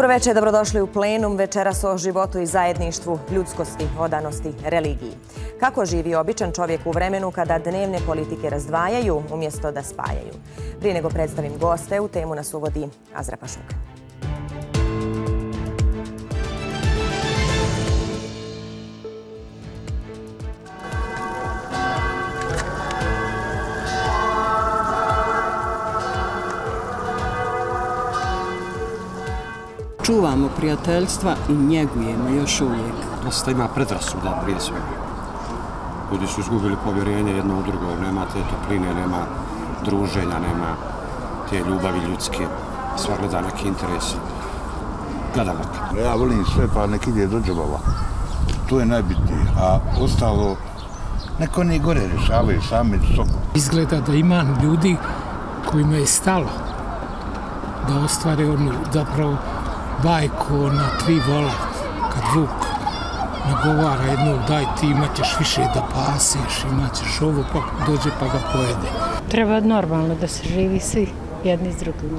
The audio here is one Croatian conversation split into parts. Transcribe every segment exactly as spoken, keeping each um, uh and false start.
Dobro večer, dobrodošli u Plenum. Večeras o životu i zajedništvu, ljudskosti, odanosti, religiji. Kako živi običan čovjek u vremenu kada dnevne politike razdvajaju umjesto da spajaju? Prije nego predstavim goste, u temu nas uvodi Azra Pašuk. Čuvamo prijateljstva i njegujemo još uvijek. Dosta ima predrasuda prije svega. Ljudi su izgubili povjerenje jedno u drugo, nema te topline, nema druženja, nema te ljubavi ljudske. Sva gleda neki interesi. Gledamo. Ja volim sve, pa nek ide do džabova. To je najbitnije. A ostalo, neko oni gore rješavaju sami sobom. Izgleda da ima ljudi kojima je stalo da ostvare onu zapravo bajku na tri vola, kad Vuk nagovara jednog, daj ti imaćeš više da pasiš, imaćeš ovo, pa dođe pa ga pojede. Treba normalno da se živi svi jedni s drugim.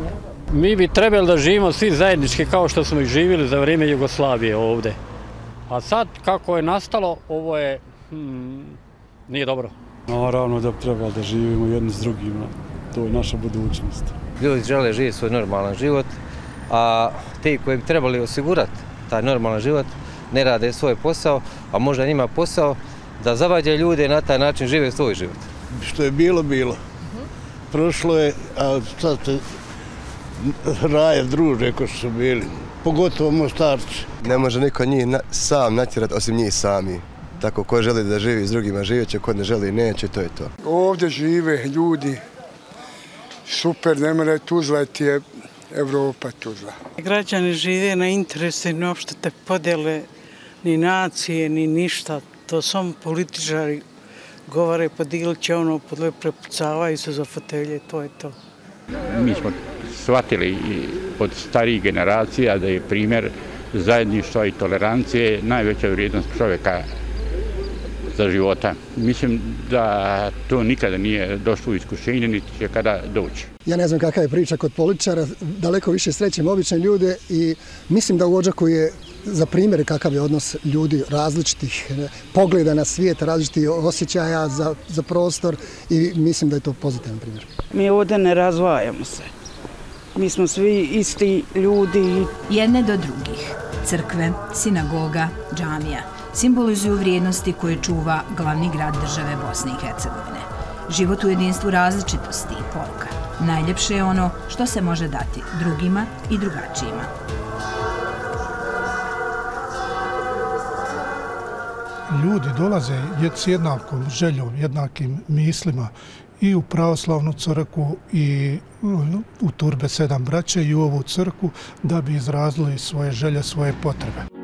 Mi bi trebali da živimo svi zajednički kao što smo ih živjeli za vrijeme Jugoslavije ovdje. A sad kako je nastalo, ovo je, hmm, nije dobro. Naravno da treba da živimo jedni s drugima, to je naša budućnost. Ljudi žele živjeti svoj normalan život, a ti koji bi trebali osigurati taj normalan život ne rade svoj posao, a možda njima posao da zavađaju ljude i na taj način žive svoj život. Što je bilo, bilo. Prošlo je, a sad se raje druže ko su bili, pogotovo Mostarci. Ne može niko njih na, sam natjerati osim njih sami. Tako ko želi da živi s drugima živjet će, ko ne želi neće, to je to. Ovdje žive ljudi, super, ne mora Tuzla ti je Evropa Tuzla. Građani žive na interese, ni uopšte te podele, ni nacije, ni ništa. To samo političari govore, podijelit će ono, podle prepucavaju se za fotelje, to je to. Mi smo shvatili od starijih generacija da je primjer zajedništva i tolerancije najveća vrijednost čovjeka za života. Mislim da to nikada nije došlo u iskušenje, niti će kada doći. Ja ne znam kakva je priča kod političara, daleko više srećem obične ljude i mislim da u Odžaku je za primjer kakav je odnos ljudi različitih pogleda na svijet, različitih osjećaja za, za prostor i mislim da je to pozitivan primjer. Mi ovdje ne razvajamo se. Mi smo svi isti ljudi. Jedne do drugih. Crkve, sinagoga, džamija simbolizuju vrijednosti koje čuva glavni grad države Bosne i Hercegovine. Život u jedinstvu različitosti i poruka. Najljepše je ono što se može dati drugima i drugačijima. Ljudi dolaze s jednakom željom, jednakim mislima i u pravoslavnu crkvu i u Turbe sedam braće i u ovu crkvu da bi izrazili svoje želje, svoje potrebe.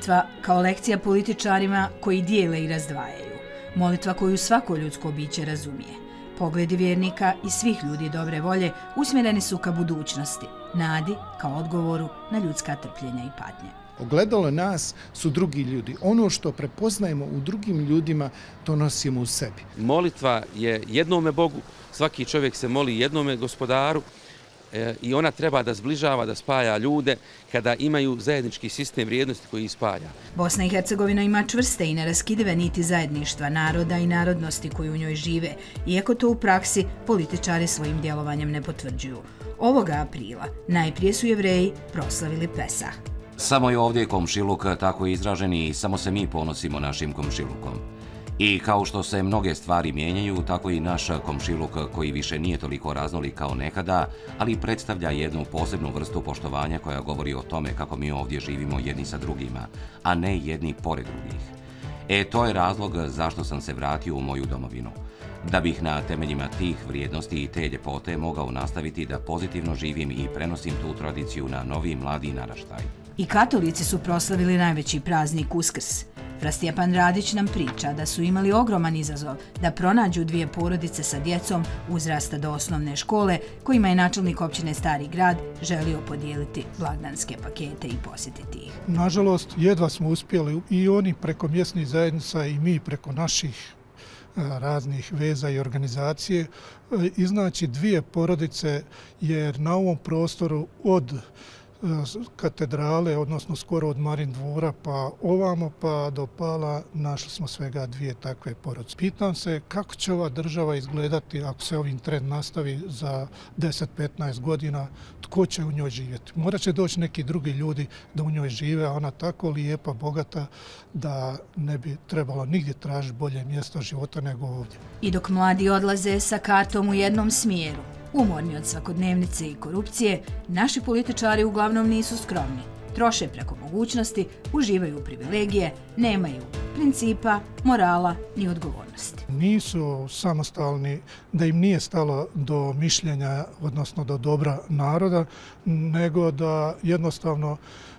Molitva kao lekcija političarima koji dijele i razdvajaju. Molitva koju svako ljudsko biće razumije. Pogledi vjernika i svih ljudi dobre volje usmjereni su ka budućnosti, nadi kao odgovoru na ljudska trpljenja i patnje. Ogledalo nas su drugi ljudi. Ono što prepoznajemo u drugim ljudima, to nosimo u sebi. Molitva je jednome Bogu, svaki čovjek se moli jednome Gospodaru, i ona treba da zbližava, da spaja ljude kada imaju zajednički sistem vrijednosti koji ih spaja. Bosna i Hercegovina ima čvrste i neraskidive niti zajedništva naroda i narodnosti koji u njoj žive, iako to u praksi političari svojim djelovanjem ne potvrđuju. Ovoga aprila najprije su Jevreji proslavili Pesah. Samo je ovdje komšiluk tako izražen i samo se mi ponosimo našim komšilukom. I kao što se mnoge stvari mijenjaju, tako i naš komšiluk koji više nije toliko raznolik kao nekada, ali predstavlja jednu posebnu vrstu poštovanja koja govori o tome kako mi ovdje živimo jedni sa drugima, a ne jedni pored drugih. E, to je razlog zašto sam se vratio u moju domovinu. Da bih na temeljima tih vrijednosti i te ljepote mogao nastaviti da pozitivno živim i prenosim tu tradiciju na novi mladi naraštaj. I katolici su proslavili najveći praznik Uskrs. Prastjepan Radić nam priča da su imali ogroman izazov da pronađu dvije porodice sa djecom uzrasta do osnovne škole kojima je načelnik općine Stari Grad želio podijeliti blagdanske pakete i posjetiti ih. Nažalost, jedva smo uspjeli i oni preko mjesnih zajednica i mi preko naših raznih veza i organizacije iznaći dvije porodice, jer na ovom prostoru od katedrale, odnosno skoro od Marin dvora pa ovamo pa do Pala našli smo svega dvije takve porodice. Pitam se kako će ova država izgledati ako se ovim trend nastavi za deset do petnaest godina, tko će u njoj živjeti. Morat će doći neki drugi ljudi da u njoj žive, a ona tako lijepa, bogata da ne bi trebalo nigdje tražiti bolje mjesto života nego ovdje. I dok mladi odlaze sa kartom u jednom smjeru, umorni od svakodnevnice i korupcije, naši političari uglavnom nisu skromni. Troše preko mogućnosti, uživaju u privilegije, nemaju principa, morala ni odgovornosti. Nisu samostalni, da im nije stalo do mišljenja, odnosno do dobra naroda, nego da jednostavno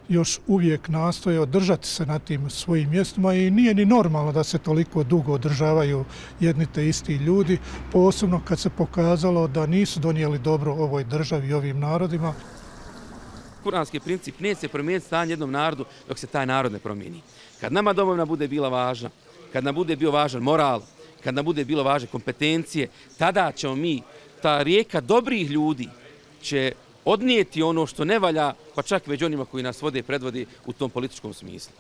još uvijek nastoje održati se na tim svojim mjestima i nije ni normalno da se toliko dugo održavaju jedni te isti ljudi, posebno kad se pokazalo da nisu donijeli dobro ovoj državi i ovim narodima. Kuranski princip neće se promijeniti stanje jednom narodu dok se taj narod ne promijeni. Kad nama domovina bude bila važna, kad nam bude bio važan moral, kad nam bude bilo važne kompetencije, tada ćemo mi, ta rijeka dobrih ljudi će odnijeti ono što ne valja, pa čak već onima koji nas vode i predvodi u tom političkom smislu.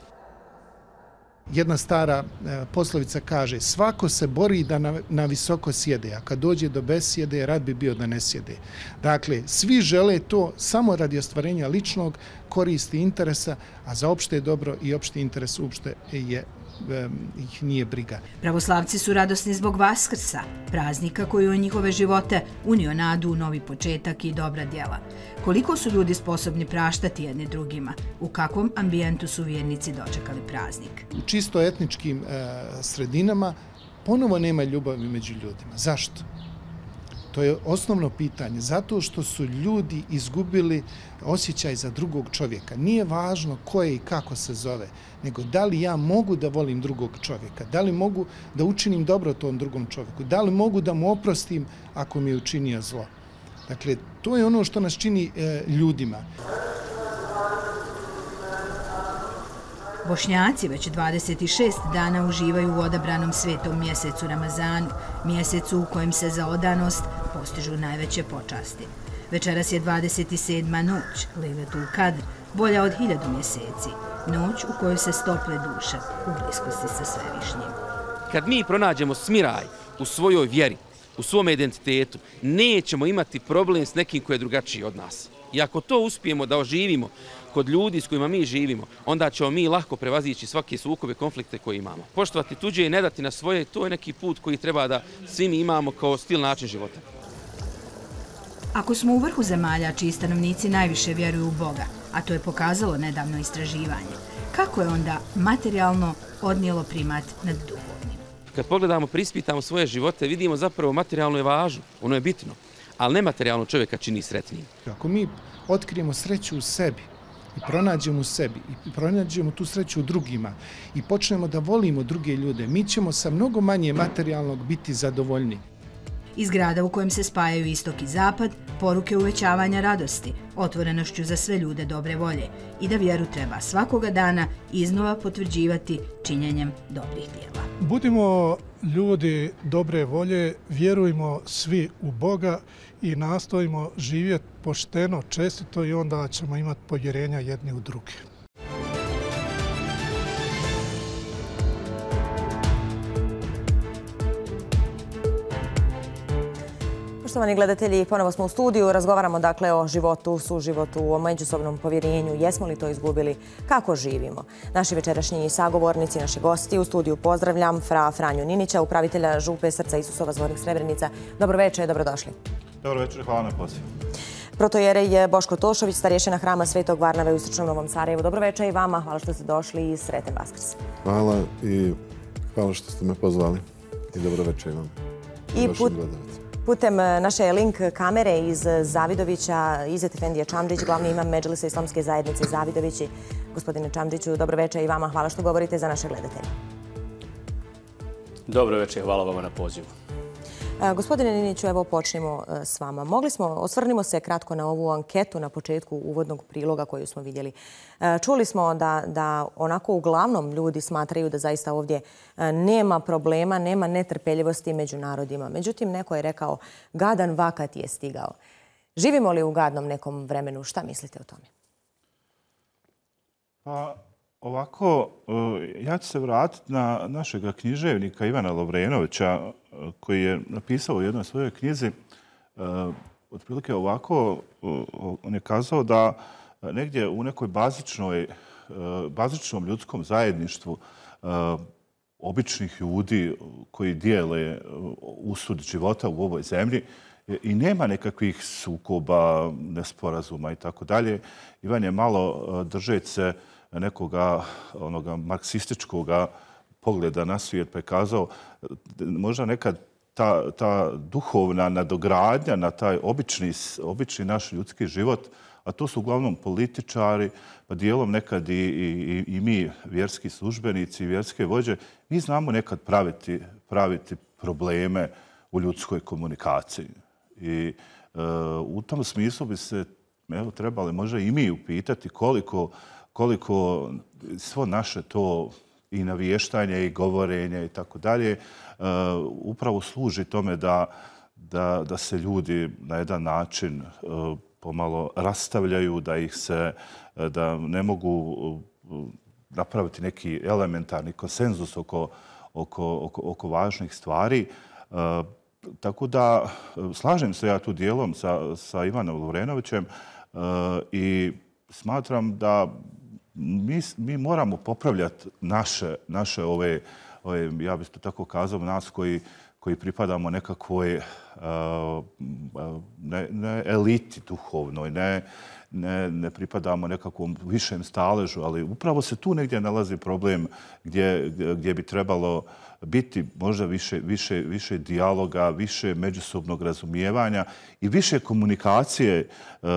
Jedna stara poslovica kaže, svako se bori da na, na visoko sjede, a kad dođe do besjede, rad bi bio da ne sjede. Dakle, svi žele to samo radi ostvarenja ličnog koristi interesa, a za opšte dobro i opšti interes uopšte je ih nije briga. Pravoslavci su radosni zbog Vaskrsa, praznika koji u njihove živote unio nadu u novi početak i dobra djela. Koliko su ljudi sposobni praštati jedni drugima? U kakvom ambijentu su vjernici dočekali praznik? U čisto etničkim e, sredinama ponovo nema ljubavi među ljudima. Zašto? To je osnovno pitanje, zato što su ljudi izgubili osjećaj za drugog čovjeka. Nije važno ko je i kako se zove, nego da li ja mogu da volim drugog čovjeka, da li mogu da učinim dobro tom drugom čovjeku, da li mogu da mu oprostim ako mi je učinio zlo. Dakle, to je ono što nas čini e, ljudima. Bošnjaci već dvadeset šest dana uživaju u odabranom svetom mjesecu Ramazanu, mjesecu u kojem se za odanost postižu najveće počasti. Večeras je dvadeset sedma noć, Lejletul Kadr, bolja od hiljadu mjeseci, noć u kojoj se stople duše u bliskosti sa Svevišnjim. Kad mi pronađemo smiraj u svojoj vjeri, u svom identitetu, nećemo imati problem s nekim koji je drugačiji od nas. I ako to uspijemo da oživimo kod ljudi s kojima mi živimo, onda ćemo mi lahko prevazići svake sukobe, konflikte koje imamo. Poštovati tuđe i ne dati na svoje, to je neki put koji treba da svi mi imamo kao stil način života. Ako smo u vrhu zemalja čiji stanovnici najviše vjeruju u Boga, a to je pokazalo nedavno istraživanje, kako je onda materijalno odnijelo primat nad duhovnim? Kad pogledamo, prispitamo svoje živote, vidimo zapravo materijalno je važno, ono je bitno, ali nematerijalno čovjeka čini sretnijim. Ako mi otkrijemo sreću u sebi i pronađemo u sebi i pronađemo tu sreću u drugima i počnemo da volimo druge ljude, mi ćemo sa mnogo manje materijalnog biti zadovoljni. Iz grada u kojem se spajaju istok i zapad, poruke uvećavanja radosti, otvorenošću za sve ljude dobre volje i da vjeru treba svakoga dana iznova potvrđivati činjenjem dobrih djela. Budimo ljudi dobre volje, vjerujmo svi u Boga i nastojimo živjeti pošteno, čestito i onda ćemo imati povjerenja jedni u druge. Poštovani gledatelji, ponovo smo u studiju, razgovaramo dakle o životu, suživotu, o međusobnom povjerenju, jesmo li to izgubili, kako živimo. Naši večerašnji sagovornici, naši gosti u studiju pozdravljam fra Franju Ninića, upravitelja župe Srca Isusova Zvornik Srebrenica. Dobro večer, dobrodošli. Dobro večer, hvala na pozivu. Protojerej Boško Tošović, starješina hrama Svetog Varnave u Istočnom Novom Sarajevu. Dobro večer i vama, hvala što ste došli i sretan Vaskrs. Hvala i hvala što ste me pozvali i dobro večer i vam. I put... Putem naše link kamere iz Zavidovića, Izet Efendija Čamdžić, glavni imam Medžlisa Islamske zajednice Zavidovići. Gospodine Čamdžiću, dobro večer i vama. Hvala što govorite za naše gledatelje. Dobro večer, hvala vama na pozivu. Gospodine Niniću, evo počnemo s vama. Mogli smo, osvrnimo se kratko na ovu anketu na početku uvodnog priloga koju smo vidjeli. Čuli smo da, da onako uglavnom ljudi smatraju da zaista ovdje nema problema, nema netrpeljivosti među narodima. Međutim, neko je rekao, gadan vakat je stigao. Živimo li u gadnom nekom vremenu? Šta mislite o tome? Pa ovako, ja ću se vratiti na našeg književnika Ivana Lovrenovića, koji je napisao u jednoj svojoj knjizi, otprilike ovako, on je kazao da negdje u nekoj bazičnoj, bazičnom ljudskom zajedništvu običnih ljudi koji dijele usud života u ovoj zemlji i nema nekakvih sukoba, nesporazuma i tako dalje. Ivan je malo držeći se nekoga onoga marksističkog pogleda na svijet pa je kazao možda nekad ta, ta duhovna nadogradnja na taj obični, obični naš ljudski život, a to su uglavnom političari, pa dijelom nekad i, i, i mi, vjerski službenici, vjerske vođe, mi znamo nekad praviti, praviti probleme u ljudskoj komunikaciji. I e, u tom smislu bi se evo, trebali možda i mi upitati koliko, koliko svo naše to i navještanje i govorenje i tako dalje upravo služi tome da, da, da se ljudi na jedan način uh, pomalo rastavljaju, da ih se, da ne mogu uh, napraviti neki elementarni konsenzus oko, oko, oko, oko važnih stvari. Uh, tako da slažem se ja tu dijelom sa, sa Ivanom Lovrenovićem uh, i smatram da mi, mi moramo popravljati naše, naše ove, ove, ja bih to tako kazao, nas koji, koji pripadamo nekakvoj uh, ne, ne eliti duhovnoj, ne, ne, ne pripadamo nekakvom višem staležu, ali upravo se tu negdje nalazi problem gdje, gdje bi trebalo biti možda više, više, više dijaloga, više međusobnog razumijevanja i više komunikacije uh,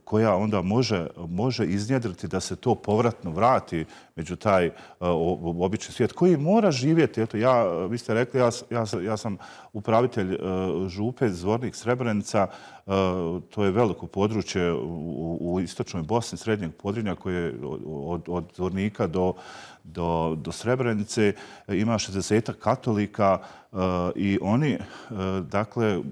koja onda može, može iznjedriti da se to povratno vrati među taj uh, obični svijet koji mora živjeti. Eto, ja, vi ste rekli, ja, ja, ja sam upravitelj uh, župe Zvornik Srebrenica. Uh, to je veliko područje u, u istočnoj Bosni, srednjeg Podrinja koje je od, od Zvornika do Do, do Srebrenice, ima šezdeset katolika uh, i oni, uh, dakle,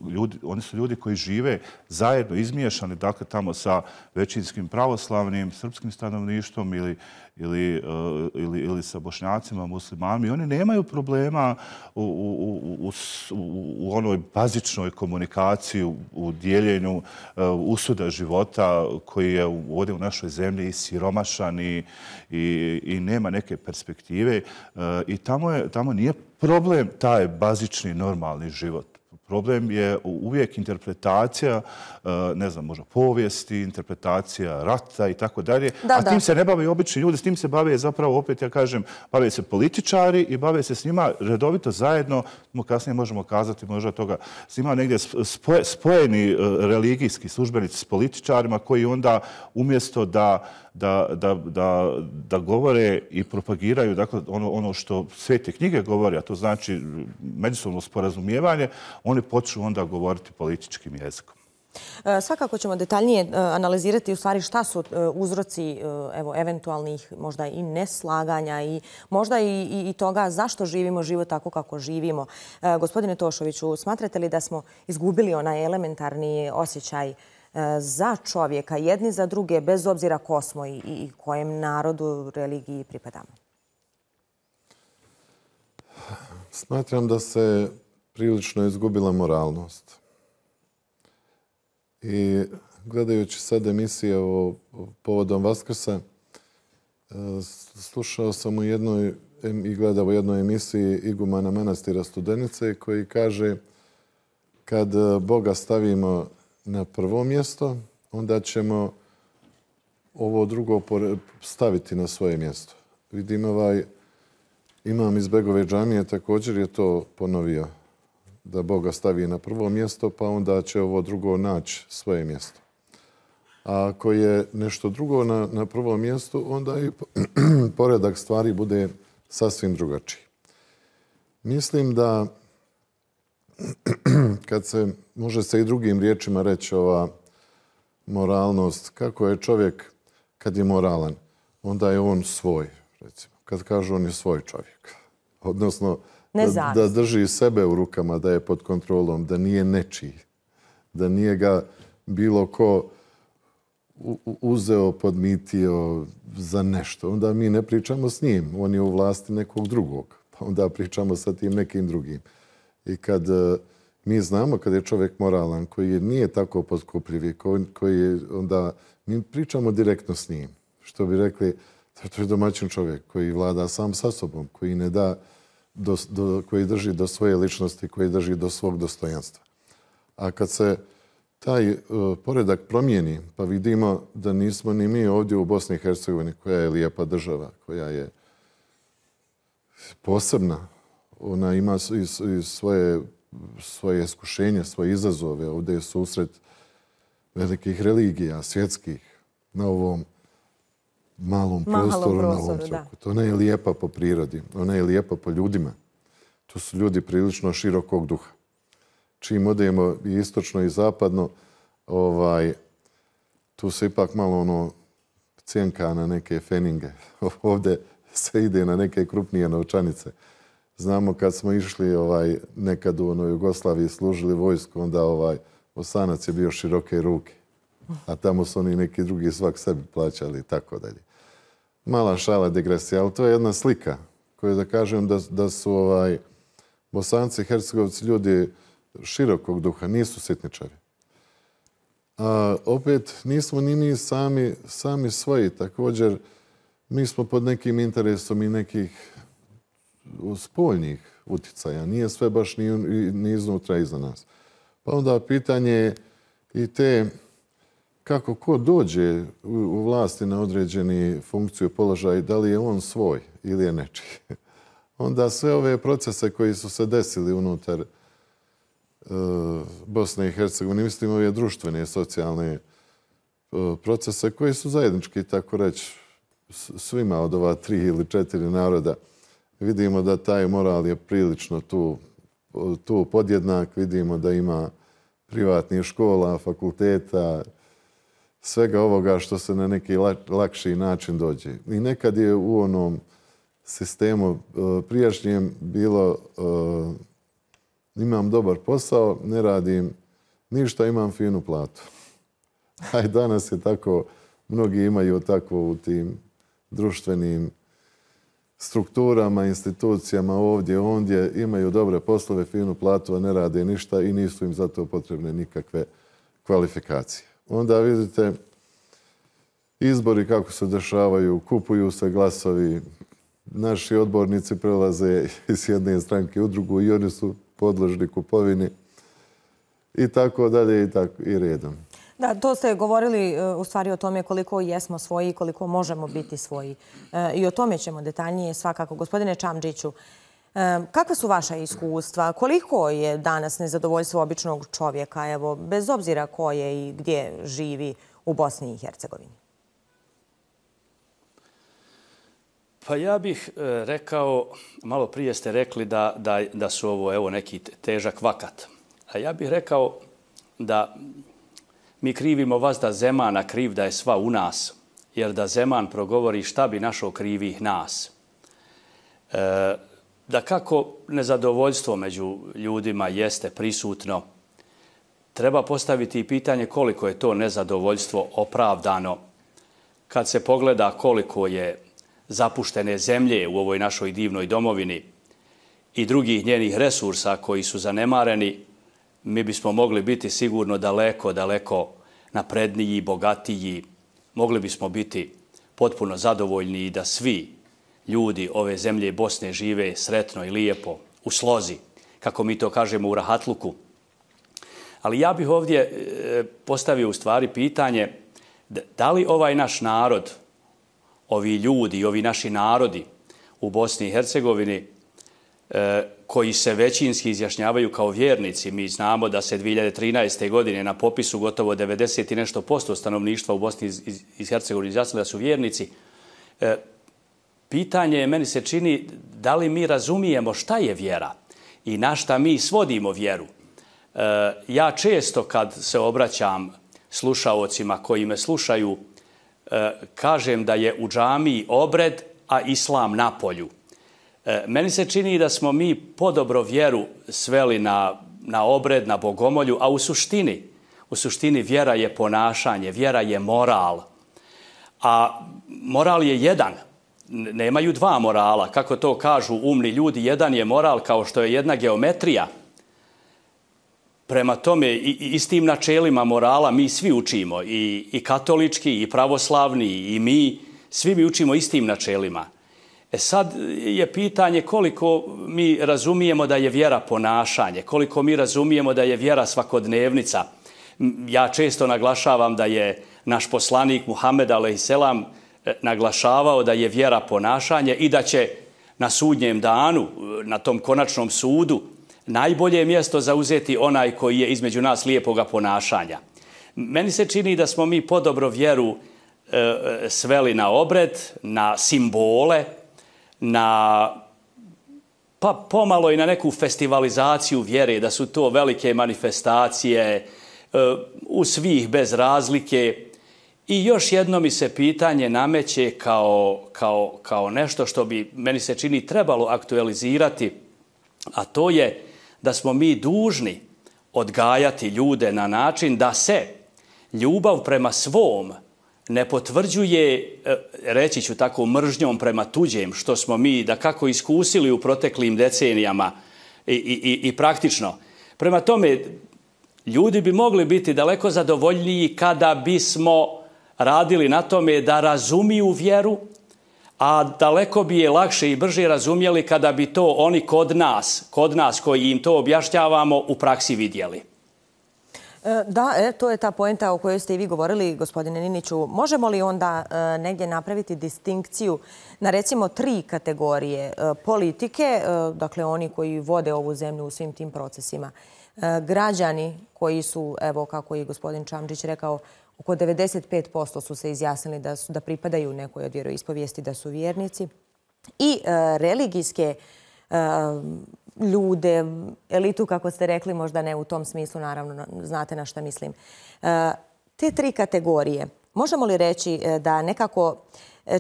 ljudi, oni su ljudi koji žive zajedno, izmiješani, dakle, tamo sa većinskim pravoslavnim, srpskim stanovništvom ili, ili, uh, ili, ili sa bošnjacima, muslimanima. I oni nemaju problema u, u, u, u, u onoj bazičnoj komunikaciji, u, u dijeljenju uh, usuda života koji je ovdje u našoj zemlji siromašan i, i, i nema neke perspektive. Uh, I tamo, je, tamo nije problem taj bazični normalni život. Problem je uvijek interpretacija, ne znam, možda povijesti, interpretacija rata i tako dalje. A tim se ne bave obični ljudi, s tim se bave zapravo, opet ja kažem, bave se političari i bave se s njima redovito zajedno, kasnije možemo kazati možda toga, s njima negdje spoje, spojeni religijski službenici s političarima koji onda umjesto da Da, da, da, da govore i propagiraju dakle, ono, ono što svete knjige govore, a to znači međusobno sporazumijevanje, oni počnu onda govoriti političkim jezikom. Svakako ćemo detaljnije analizirati u stvari šta su uzroci evo, eventualnih možda i neslaganja i možda i, i, i toga zašto živimo život tako kako živimo. Gospodine Tošoviću, smatrate li da smo izgubili onaj elementarni osjećaj za čovjeka, jedni za druge, bez obzira ko smo i, i kojem narodu, religiji pripadamo? Smatram da se prilično izgubila moralnost. I gledajući sad emisije o, o povodom Vaskrsa, slušao sam u jednoj i gledao u jednoj emisiji igumana manastira Studenice koji kaže kad Boga stavimo na prvo mjesto, onda ćemo ovo drugo staviti na svoje mjesto. Vidim ovaj imam iz Begove džamije također je to ponovio. da Boga stavi na prvo mjesto, pa onda će ovo drugo naći svoje mjesto. A ako je nešto drugo na, na prvom mjestu, onda i poredak stvari bude sasvim drugačiji. Mislim da kad se, može se i drugim riječima reći ova moralnost, kako je čovjek kad je moralan, onda je on svoj, recimo. Kad kažu on je svoj čovjek. Odnosno, da, da drži sebe u rukama, da je pod kontrolom, da nije nečiji, da nije ga bilo ko uzeo, podmitio za nešto. Onda mi ne pričamo s njim, on je u vlasti nekog drugog. Pa onda pričamo sa tim nekim drugim. I kad mi znamo kad je čovjek moralan, koji nije tako potkupljiv, koji je, onda mi pričamo direktno s njim. Što bi rekli, to je domaćin čovjek koji vlada sam sa sobom, koji ne da, do, do, koji drži do svoje ličnosti, koji drži do svog dostojanstva. A kad se taj uh, poredak promijeni, pa vidimo da nismo ni mi ovdje u Bosni i Hercegovini, koja je lijepa država, koja je posebna, ona ima i, i svoje, svoje iskušenje, svoje izazove. Ovdje je susret velikih religija, svjetskih, na ovom malom prostoru, na ovom trokutu. Ona je lijepa po prirodi, ona je lijepa po ljudima. Tu su ljudi prilično širokog duha. Čim odemo i istočno i zapadno, ovaj, tu se ipak malo ono cijenka na neke feninge. Ovdje se ide na neke krupnije novčanice. Znamo kad smo išli ovaj, nekad u onoj Jugoslaviji služili vojsku, onda ovaj, Osanac je bio široke ruke. A tamo su oni neki drugi svak sebi plaćali i tako dalje. Mala šala, digresija, ali to je jedna slika koju da kažem da, da su ovaj, Bosanci i Hercegovci ljudi širokog duha, nisu sitničari. A opet nismo ni mi sami, sami svoji. Također, mi smo pod nekim interesom i nekih spoljnih utjecaja. Nije sve baš ni, ni iznutra iza nas. Pa onda pitanje je i te kako ko dođe u, u vlasti na određeni funkciju, položaj, da li je on svoj ili je nečiji. Onda sve ove procese koji su se desili unutar Bosne i Hercegovine, mislim ove društvene, socijalne procese koji su zajednički, tako reći, svima od ova tri ili četiri naroda. Vidimo da taj moral je prilično tu, tu podjednak. Vidimo da ima privatnih škola, fakulteta, svega ovoga što se na neki lakši način dođe. I nekad je u onom sistemu prijašnjem bilo imam dobar posao, ne radim ništa, imam finu platu. A i danas je tako, mnogi imaju tako u tim društvenim strukturama, institucijama ovdje, ondje, imaju dobre poslove, finu platu, a ne rade ništa i nisu im zato potrebne nikakve kvalifikacije. Onda vidite izbori kako se dešavaju, kupuju se glasovi, naši odbornici prelaze iz jedne stranke u drugu i oni su podložni kupovini i tako dalje i tako i redom. Da, to ste govorili u stvari o tome koliko jesmo svoji i koliko možemo biti svoji. I o tome ćemo detaljnije svakako. Gospodine Čamdžiću, kakva su vaša iskustva? Koliko je danas nezadovoljstvo običnog čovjeka, evo, bez obzira ko je i gdje živi u Bosni i Hercegovini? Pa ja bih rekao, malo prije ste rekli da, da, da su ovo evo, neki težak vakat. A ja bih rekao da mi krivimo vas da Zemana kriv da je sva u nas, jer da Zeman progovori šta bi našo krivih nas. E, da kako nezadovoljstvo među ljudima jeste prisutno, treba postaviti pitanje koliko je to nezadovoljstvo opravdano kad se pogleda koliko je zapuštene zemlje u ovoj našoj divnoj domovini i drugih njenih resursa koji su zanemareni, mi bismo mogli biti sigurno daleko, daleko napredniji, bogatiji. Mogli bismo biti potpuno zadovoljni i da svi ljudi ove zemlje Bosne žive sretno i lijepo, u slozi, kako mi to kažemo u rahatluku. Ali ja bih ovdje postavio u stvari pitanje da li ovaj naš narod, ovi ljudi, ovi naši narodi u Bosni i Hercegovini koji se većinski izjašnjavaju kao vjernici. Mi znamo da se dvije hiljade trinaeste. godine na popisu gotovo devedeset i nešto posto stanovništva u Bosni i Hercegovini izjasnili da su vjernici. Pitanje je, meni se čini, da li mi razumijemo šta je vjera i na šta mi svodimo vjeru. Ja često kad se obraćam slušaocima koji me slušaju, kažem da je u džamiji obred, a islam na polju. Meni se čini da smo mi podobro vjeru sveli na, na obred, na bogomolju, a u suštini, u suštini vjera je ponašanje, vjera je moral. A moral je jedan. Nemaju dva morala. Kako to kažu umni ljudi, jedan je moral kao što je jedna geometrija. Prema tome, i, i s tim načelima morala mi svi učimo, i, i katolički, i pravoslavni, i mi, svi mi učimo istim načelima. E sad je pitanje koliko mi razumijemo da je vjera ponašanje, koliko mi razumijemo da je vjera svakodnevnica. Ja često naglašavam da je naš poslanik Muhammed alejselam naglašavao da je vjera ponašanje i da će na sudnjem danu, na tom konačnom sudu, najbolje mjesto zauzeti onaj koji je između nas lijepoga ponašanja. Meni se čini da smo mi podobro vjeru e, sveli na obred, na simbole, na pa pomalo i na neku festivalizaciju vjere, da su to velike manifestacije e, u svih bez razlike. I još jedno mi se pitanje nameće kao, kao, kao nešto što bi, meni se čini, trebalo aktualizirati, a to je da smo mi dužni odgajati ljude na način da se ljubav prema svom ne potvrđuje, reći ću tako, mržnjom prema tuđem, što smo mi da kako iskusili u proteklim decenijama i, i, i praktično. Prema tome, ljudi bi mogli biti daleko zadovoljniji kada bismo radili na tome da razumiju vjeru, a daleko bi je lakše i brže razumjeli kada bi to oni kod nas, kod nas koji im to objašnjavamo, u praksi vidjeli. Da, e, to je ta poenta o kojoj ste i vi govorili, gospodine Niniću. Možemo li onda e, negdje napraviti distinkciju na recimo tri kategorije e, politike, e, dakle oni koji vode ovu zemlju u svim tim procesima, e, građani koji su, evo kako je gospodin Čamdžić rekao, oko devedeset pet posto su se izjasnili da, su, da pripadaju nekoj od vjeroispovijesti, da su vjernici, i e, religijske e, ljude, elitu, kako ste rekli, možda ne u tom smislu, naravno, znate na šta mislim. E, te tri kategorije, možemo li reći da nekako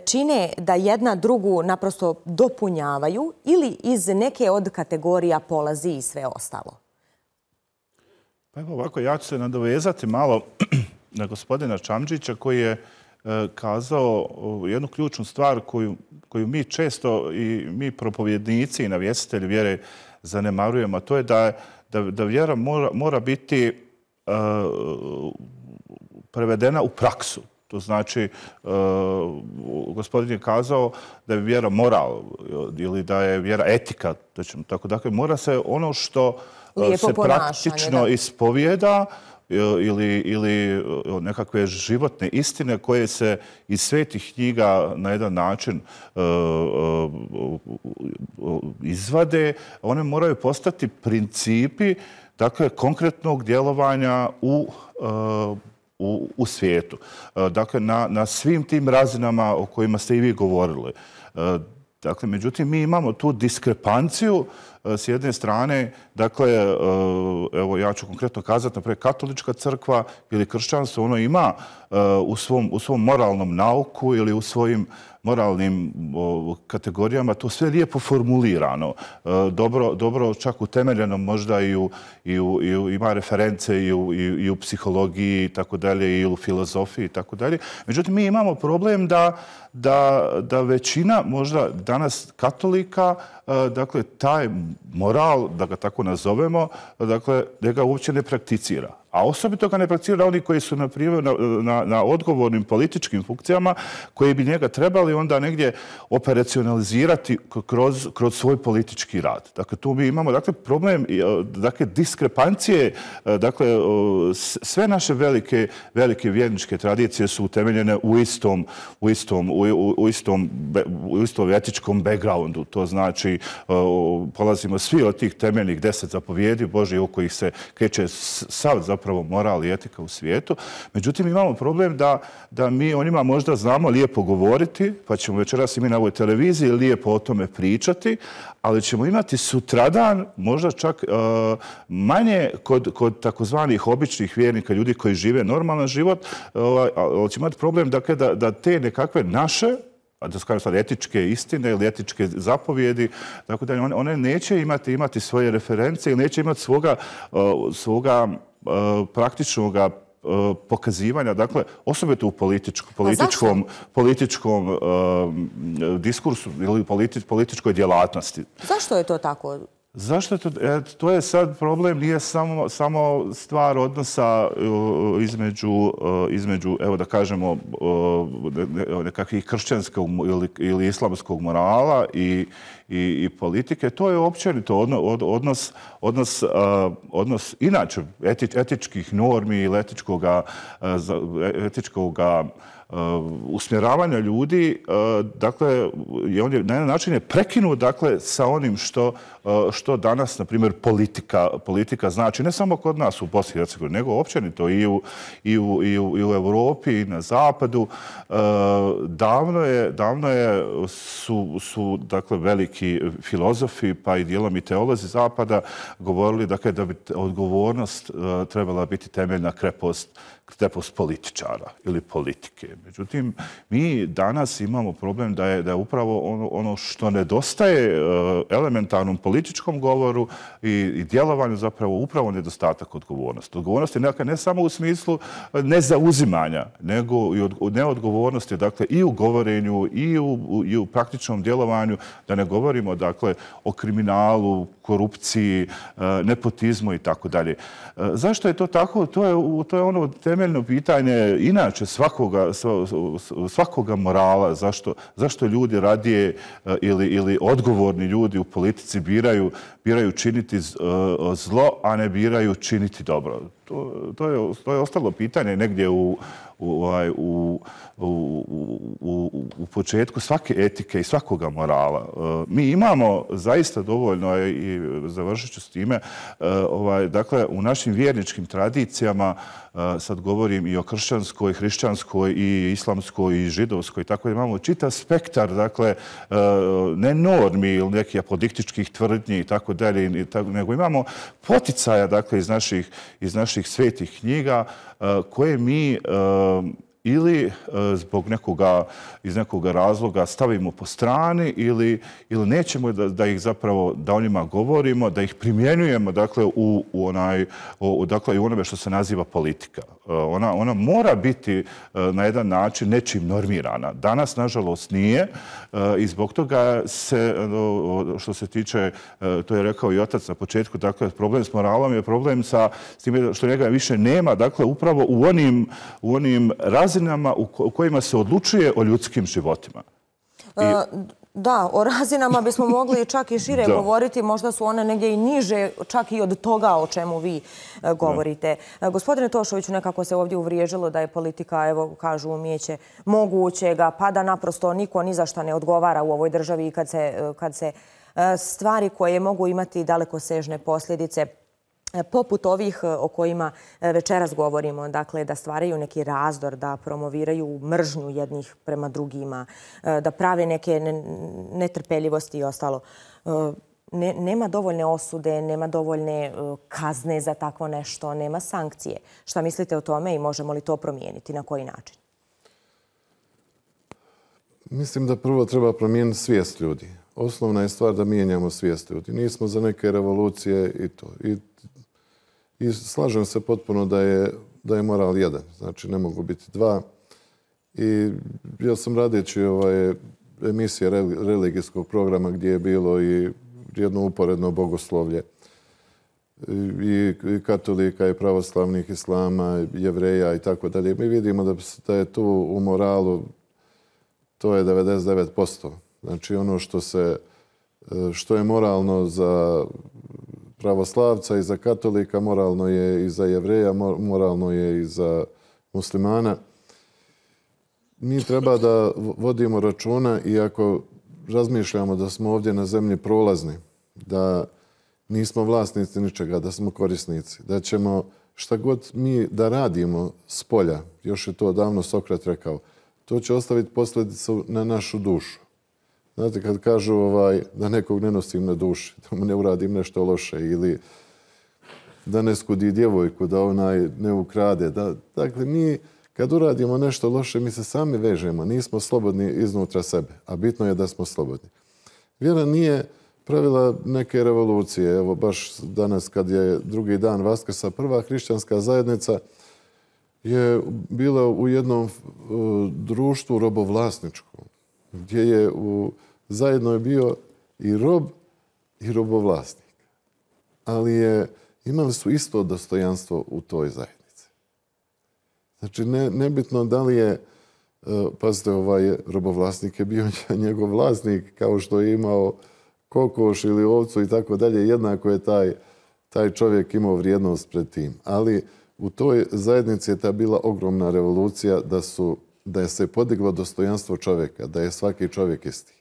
čine da jedna drugu naprosto dopunjavaju ili iz neke od kategorija polazi i sve ostalo? Pa evo ovako, ja ću se nadovezati malo na gospodina Čamdžića koji je e, kazao jednu ključnu stvar koju, koju mi često i mi propovjednici i navjestitelji vjere zanemarujemo, a to je da, da, da vjera mora, mora biti e, prevedena u praksu. To znači, e, gospodin je kazao da je vjera moral ili da je vjera etika. Da ćemo, tako, dakle, mora se ono što lijepo se praktično da. ispovijeda ili, ili nekakve životne istine koje se iz svetih knjiga na jedan način uh, uh, izvade, one moraju postati principi, dakle, konkretnog djelovanja u, uh, u, u svijetu. Uh, dakle, na, na svim tim razinama o kojima ste i vi govorili. Uh, dakle, međutim, mi imamo tu diskrepanciju s jedne strane, dakle, evo ja ću konkretno kazati, naprijed katolička crkva ili kršćanstvo, ono ima u svom, u svom moralnom nauku ili u svojim moralnim kategorijama to sve lijepo formulirano, dobro, dobro čak utemeljeno možda i u, i u, i u, ima reference i u, i, i u psihologiji i tako dalje i u filozofiji i tako dalje. Međutim, mi imamo problem da, da, da većina možda danas katolika, dakle, taj moral, da ga tako nazovemo, dakle, da ga uopće ne prakticira. A osobito ga ne prakticira oni koji su na, primjer, na, na, na odgovornim političkim funkcijama koji bi njega trebali onda negdje operacionalizirati kroz, kroz svoj politički rad. Dakle, tu mi imamo dakle, problem dakle, diskrepancije. Dakle, sve naše velike, velike vjerničke tradicije su utemeljene u istom, u istom, u, u istom, u istom etičkom backgroundu. To znači, polazimo svi od tih temeljnih deset zapovjedi Božih u kojih se kreće sav zapravo moral i etika u svijetu. Međutim, imamo problem da, da mi o njima možda znamo lijepo govoriti, pa ćemo večeras i mi na ovoj televiziji lijepo o tome pričati, ali ćemo imati sutradan možda čak uh, manje kod, kod takozvanih običnih vjernika, ljudi koji žive normalan život, uh, ali ćemo imati problem dakle, da, da te nekakve naše, da kažem sad etičke istine ili etičke zapovjedi, tako da one, one neće imati, imati svoje reference ili neće imati svoga, uh, svoga uh, praktičnog pokazivanja, dakle, osobito u političko, političkom, političkom uh, diskursu ili politi, političkoj djelatnosti. Zašto je to tako? Zašto je to? E, to je sad problem, nije samo, samo stvar odnosa uh, između, uh, između, evo da kažemo, uh, nekakvih kršćanskog ili, ili islamskog morala i, i, i politike. To je općenito odno, od, odnos, odnos, uh, odnos inače eti, etičkih normi ili etičkoga, uh, etičkoga Uh, usmjeravanja ljudi, uh, dakle, je on je, na jedan način je prekinut dakle, sa onim što, uh, što danas, na primjer, politika, politika znači, ne samo kod nas u Bosni i Hercegovini, nego općenito i u, i u, i u, i u Europi i na zapadu. Uh, davno je, davno je su, su dakle, veliki filozofi, pa i dijelom i teolozi zapada govorili dakle, da bi odgovornost uh, trebala biti temeljna krepost krepost političara ili politike. Međutim, mi danas imamo problem da je, da je upravo ono, ono što nedostaje uh, elementarnom političkom govoru i, i djelovanju zapravo upravo nedostatak odgovornosti. Odgovornost je nekako ne samo u smislu nezauzimanja, nego i od, neodgovornosti dakle, i u govorenju i u, i u praktičnom djelovanju, da ne govorimo dakle, o kriminalu, korupciji, uh, nepotizmu i tako dalje. Zašto je to tako? To je, to je ono temeljno pitanje inače svakoga, svakoga morala. Zašto, zašto ljudi radije ili, ili odgovorni ljudi u politici biraju, biraju činiti zlo, a ne biraju činiti dobro? To, to, je, to je ostalo pitanje negdje u, u, u, u, u, u početku svake etike i svakoga morala. Mi imamo zaista dovoljno, i završit ću s time, ovaj, dakle, u našim vjerničkim tradicijama, sad govorim i o kršćanskoj, hrišćanskoj i islamskoj i židovskoj, tako da imamo čitav spektar, dakle, ne normi ili nekih apodiktičkih tvrdnji i tako dalje, nego imamo poticaja, dakle, iz naših, iz naših svetih knjiga koje mi ili zbog nekoga, iz nekoga razloga stavimo po strani ili, ili nećemo da, da ih zapravo, da o njima govorimo, da ih primjenjujemo dakle, u, u, onaj, u, dakle, u onome što se naziva politika. Ona, ona mora biti na jedan način nečim normirana. Danas, nažalost, nije i zbog toga se, što se tiče, to je rekao i otac na početku, dakle, problem s moralom je problem sa s time što njega više nema, dakle, upravo u onim, u onim razinama u kojima se odlučuje o ljudskim životima. I... Da, o razinama bismo mogli čak i šire govoriti. Možda su one negdje i niže, čak i od toga o čemu vi govorite. Da. Gospodine Tošoviću, nekako se ovdje uvriježilo da je politika, evo, kažu umijeće mogućega, pa da naprosto niko ni za šta ne odgovara u ovoj državi kad se, kad se stvari koje mogu imati dalekosežne posljedice poput ovih o kojima večeras govorimo, dakle da stvaraju neki razdor, da promoviraju mržnju jednih prema drugima, da prave neke netrpeljivosti i ostalo. Ne, nema dovoljne osude, nema dovoljne kazne za takvo nešto, nema sankcije. Šta mislite o tome i možemo li to promijeniti? Na koji način? Mislim da prvo treba promijeniti svijest ljudi. Osnovna je stvar da mijenjamo svijest ljudi. Nismo za neke revolucije i to. I I slažem se potpuno da je, da je moral jedan. Znači, ne mogu biti dva. I ja sam radeći ovaj, emisije religijskog programa gdje je bilo i jedno uporedno bogoslovlje. i katolika, i pravoslavnih, islama, jevreja i tako dalje. Mi vidimo da je tu u moralu, to je devedeset devet posto. Znači ono što se, što je moralno za pravoslavca i za katolika, moralno je i za jevreja, moralno je i za muslimana. Mi treba da vodimo računa, i ako razmišljamo da smo ovdje na zemlji prolazni, da nismo vlasnici ničega, da smo korisnici, da ćemo šta god mi da radimo s polja, još je to davno Sokrat rekao, to će ostaviti posljedicu na našu dušu. Znate, kad kažu ovaj, da nekog ne nosim na duši, da mu ne uradim nešto loše ili da ne skudi djevojku, da onaj ne ukrade. Da, dakle, mi kad uradimo nešto loše, mi se sami vežemo, nismo slobodni iznutra sebe, a bitno je da smo slobodni. Vjera nije pravila neke revolucije. Evo, baš danas kad je drugi dan Vaskrsa, prva hrišćanska zajednica je bila u jednom uh, društvu robovlasničkom, gdje je u, zajedno je bio i rob i robovlasnik. Ali je, imali su isto dostojanstvo u toj zajednici. Znači, ne, nebitno da li je, uh, pazite, ovaj robovlasnik je bio njegov vlasnik, kao što je imao kokoš ili ovcu i tako dalje, jednako je taj, taj čovjek imao vrijednost pred tim. Ali u toj zajednici je ta bila ogromna revolucija da, su, da je se podiglo dostojanstvo čovjeka, da je svaki čovjek isti.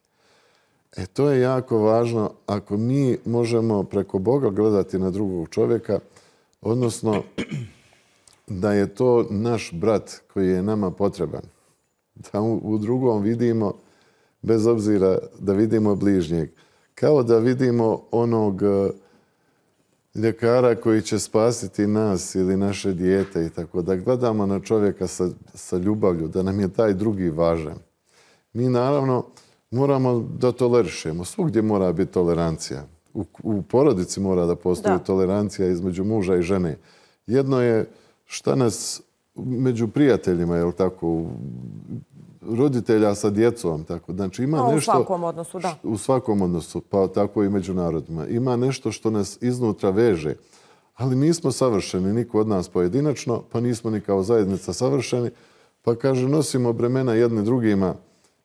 E to je jako važno ako mi možemo preko Boga gledati na drugog čovjeka, odnosno da je to naš brat koji je nama potreban. Da u, u drugom vidimo, bez obzira da vidimo bližnjeg, kao da vidimo onog ljekara koji će spasiti nas ili naše dijete i tako, da gledamo na čovjeka sa, sa ljubavlju, da nam je taj drugi važan. Mi naravno moramo da tolerišemo. Svugdje mora biti tolerancija. U, u porodici mora da postoji da. tolerancija između muža i žene. Jedno je šta nas među prijateljima, je li tako, roditelja sa djecom, tako. Znači ima no, nešto... U svakom odnosu, da. U svakom odnosu, pa tako i među narodima. Ima nešto što nas iznutra veže, ali nismo savršeni, niko od nas pojedinačno, pa nismo ni kao zajednica savršeni, pa kaže, nosimo bremena jedni drugima,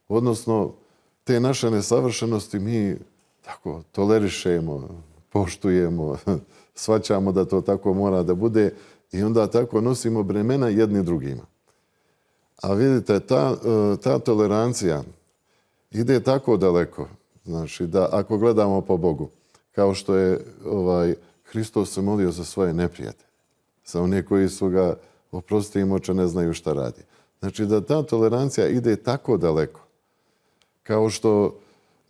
odnosno te naše nesavršenosti mi tako tolerišemo, poštujemo, shvaćamo da to tako mora da bude i onda tako nosimo bremena jedni drugima. A vidite, ta, ta tolerancija ide tako daleko, znači da ako gledamo po Bogu, kao što je ovaj, Hristos se molio za svoje neprijatelje, za one koji su ga, oprosti im oče, ne znaju šta radi. Znači da ta tolerancija ide tako daleko, kao što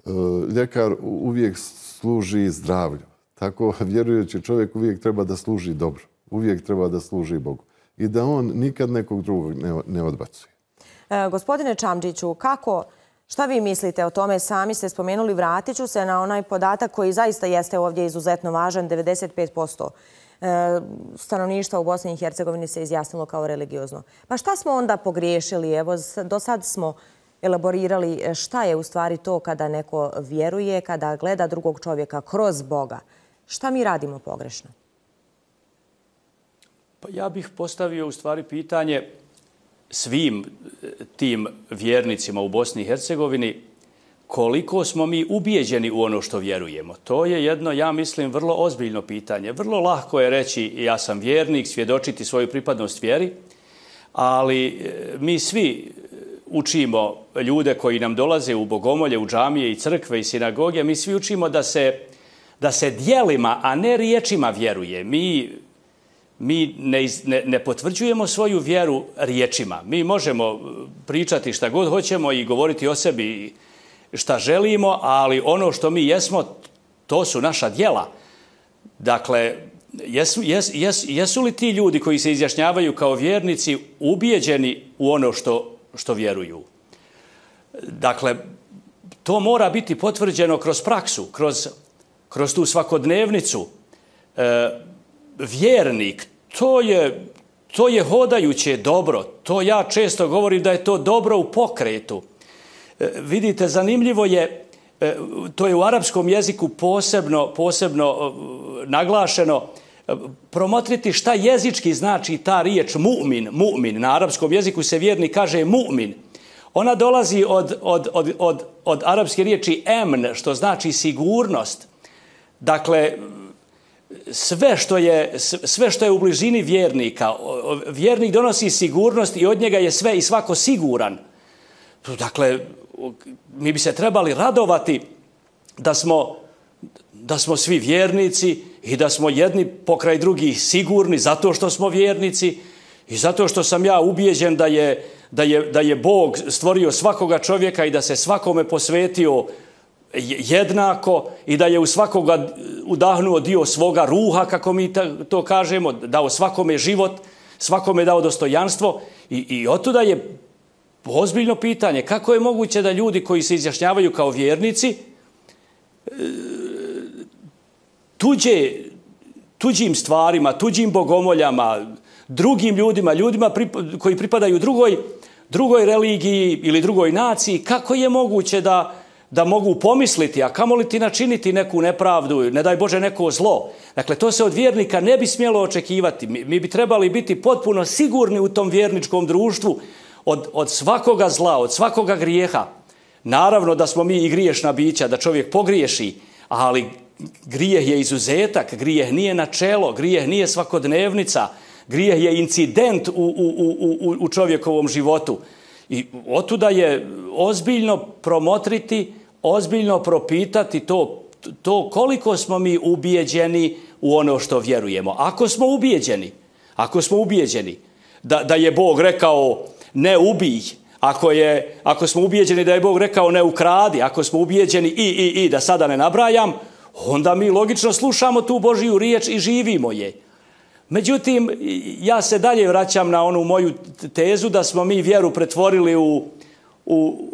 uh, ljekar uvijek služi zdravlju. Tako vjerujući čovjek uvijek treba da služi dobro, uvijek treba da služi Bogu. I da on nikad nekog drugog ne, ne odbacuje. E, gospodine Čamđiću, kako, šta vi mislite o tome? Sami ste spomenuli, vratit ću se na onaj podatak koji zaista jeste ovdje izuzetno važan, devedeset pet posto e, stanovništva u Bosni i Hercegovini se izjasnilo kao religiozno. Pa šta smo onda pogriješili? Evo, do sad smo elaborirali šta je u stvari to kada neko vjeruje, kada gleda drugog čovjeka kroz Boga. Šta mi radimo pogrešno? Pa ja bih postavio u stvari pitanje svim tim vjernicima u Bosni i Hercegovini koliko smo mi ubijeđeni u ono što vjerujemo. To je jedno, ja mislim, vrlo ozbiljno pitanje. Vrlo lako je reći ja sam vjernik, svjedočiti svoju pripadnost vjeri, ali mi svi učimo ljude koji nam dolaze u bogomolje, u džamije i crkve i sinagoge, mi svi učimo da se, da se djelima, a ne riječima vjeruje. Mi Mi ne, ne, ne potvrđujemo svoju vjeru riječima. Mi možemo pričati šta god hoćemo i govoriti o sebi šta želimo, ali ono što mi jesmo, to su naša djela. Dakle, jesu, jes, jes, jesu li ti ljudi koji se izjašnjavaju kao vjernici ubijeđeni u ono što, što vjeruju? Dakle, to mora biti potvrđeno kroz praksu, kroz, kroz tu svakodnevnicu. E, vjernik, to je, to je hodajuće dobro. To ja često govorim da je to dobro u pokretu. E, vidite, zanimljivo je, e, to je u arapskom jeziku posebno, posebno e, naglašeno, promotriti šta jezički znači ta riječ mu'min, mu'min. Na arapskom jeziku se vjernik kaže mu'min. Ona dolazi od, od, od, od, od arapske riječi emn, što znači sigurnost. Dakle, sve što je, sve što je u blizini vjernika, vjernik donosi sigurnost i od njega je sve i svako siguran. Dakle, mi bi se trebali radovati da smo, da smo svi vjernici i da smo jedni pokraj drugih sigurni zato što smo vjernici i zato što sam ja ubijeđen da je, da je, da je Bog stvorio svakoga čovjeka i da se svakome posvetio jednako i da je u svakoga udahnuo dio svoga ruha, kako mi to kažemo, dao svakome život, svakome dao dostojanstvo i, i otuda je ozbiljno pitanje kako je moguće da ljudi koji se izjašnjavaju kao vjernici tuđe, tuđim stvarima, tuđim bogomoljama, drugim ljudima, ljudima koji pripadaju drugoj, drugoj religiji ili drugoj naciji, kako je moguće da da mogu pomisliti, a kamoli ti načiniti neku nepravdu, ne daj Bože neko zlo. Dakle, to se od vjernika ne bi smjelo očekivati. Mi, mi bi trebali biti potpuno sigurni u tom vjerničkom društvu od, od svakoga zla, od svakoga grijeha. Naravno da smo mi i griješna bića, da čovjek pogriješi, ali grijeh je izuzetak, grijeh nije načelo, grijeh nije svakodnevnica, grijeh je incident u, u, u, u čovjekovom životu. I otuda je ozbiljno promotriti, ozbiljno propitati to, to koliko smo mi ubijeđeni u ono što vjerujemo. Ako smo ubijeđeni, ako smo ubijeđeni da, da je Bog rekao ne ubij, ako, je, ako smo ubijeđeni da je Bog rekao ne ukradi, ako smo ubijeđeni i, i, i, da sada ne nabrajam, onda mi logično slušamo tu Božiju riječ i živimo je. Međutim, ja se dalje vraćam na onu moju tezu da smo mi vjeru pretvorili u, u,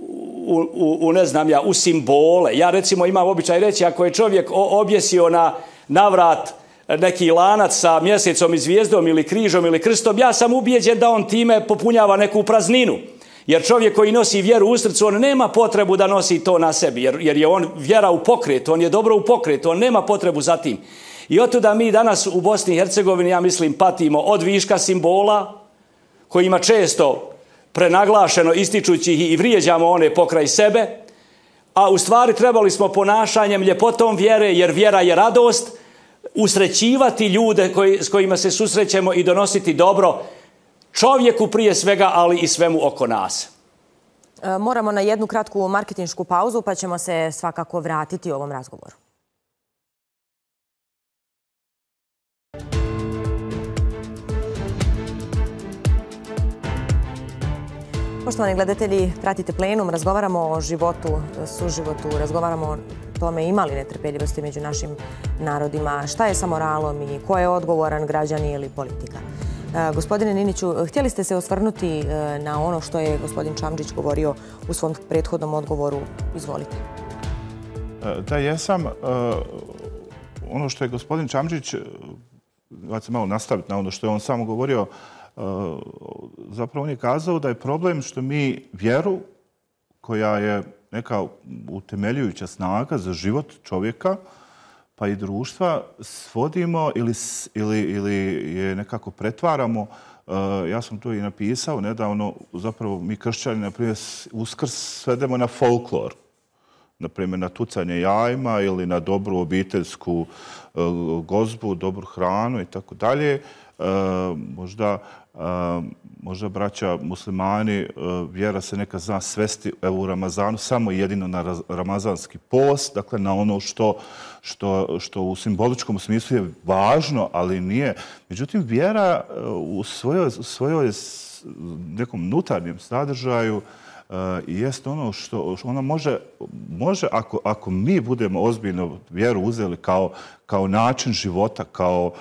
u, u ne znam ja, u simbole. Ja recimo imam običaj reći, ako je čovjek objesio na, na vrat neki lanac sa mjesecom i zvijezdom ili križom ili krstom, ja sam ubijeđen da on time popunjava neku prazninu. Jer čovjek koji nosi vjeru u srcu, on nema potrebu da nosi to na sebi, jer, jer je on vjera u pokretu, on je dobro u pokretu, on nema potrebu za tim. I otuda mi danas u Bosni i Hercegovini, ja mislim, patimo od viška simbola, kojima često prenaglašeno ističući ih i vrijeđamo one pokraj sebe, a u stvari trebali smo ponašanjem, ljepotom vjere, jer vjera je radost, usrećivati ljude koji, s kojima se susrećemo i donositi dobro čovjeku prije svega, ali i svemu oko nas. Moramo na jednu kratku marketinšku pauzu, pa ćemo se svakako vratiti u ovom razgovoru. Poštovani gledatelji, pratite Plenum, razgovaramo o životu, suživotu, razgovaramo o tome ima li netrpeljivosti među našim narodima, šta je sa moralom i ko je odgovoran, građani ili politika. Gospodine Niniću, htjeli ste se osvrnuti na ono što je gospodin Čamdžić govorio u svom prethodnom odgovoru. Izvolite. Da, jesam. Ono što je gospodin Čamdžić, ja ću malo nastaviti na ono što je on samo govorio, zapravo on je kazao da je problem što mi vjeru, koja je neka utemeljujuća snaga za život čovjeka, pa i društva, svodimo ili, ili, ili je nekako pretvaramo. Ja sam to i napisao nedavno, zapravo mi kršćani, na primjer, Uskrs svedemo na folklor. Na primjer, na tucanje jajima ili na dobru obiteljsku gozbu, dobru hranu i tako dalje. Možda, možda braća muslimani, vjera se neka zna svesti u Ramazanu samo jedino na ramazanski post, dakle na ono što, što, što u simboličkom smislu je važno, ali nije. Međutim, vjera u svojoj, svojoj nekom unutarnjem sadržaju i jest ono što ona može, može ako, ako mi budemo ozbiljno vjeru uzeli kao, kao način života, kao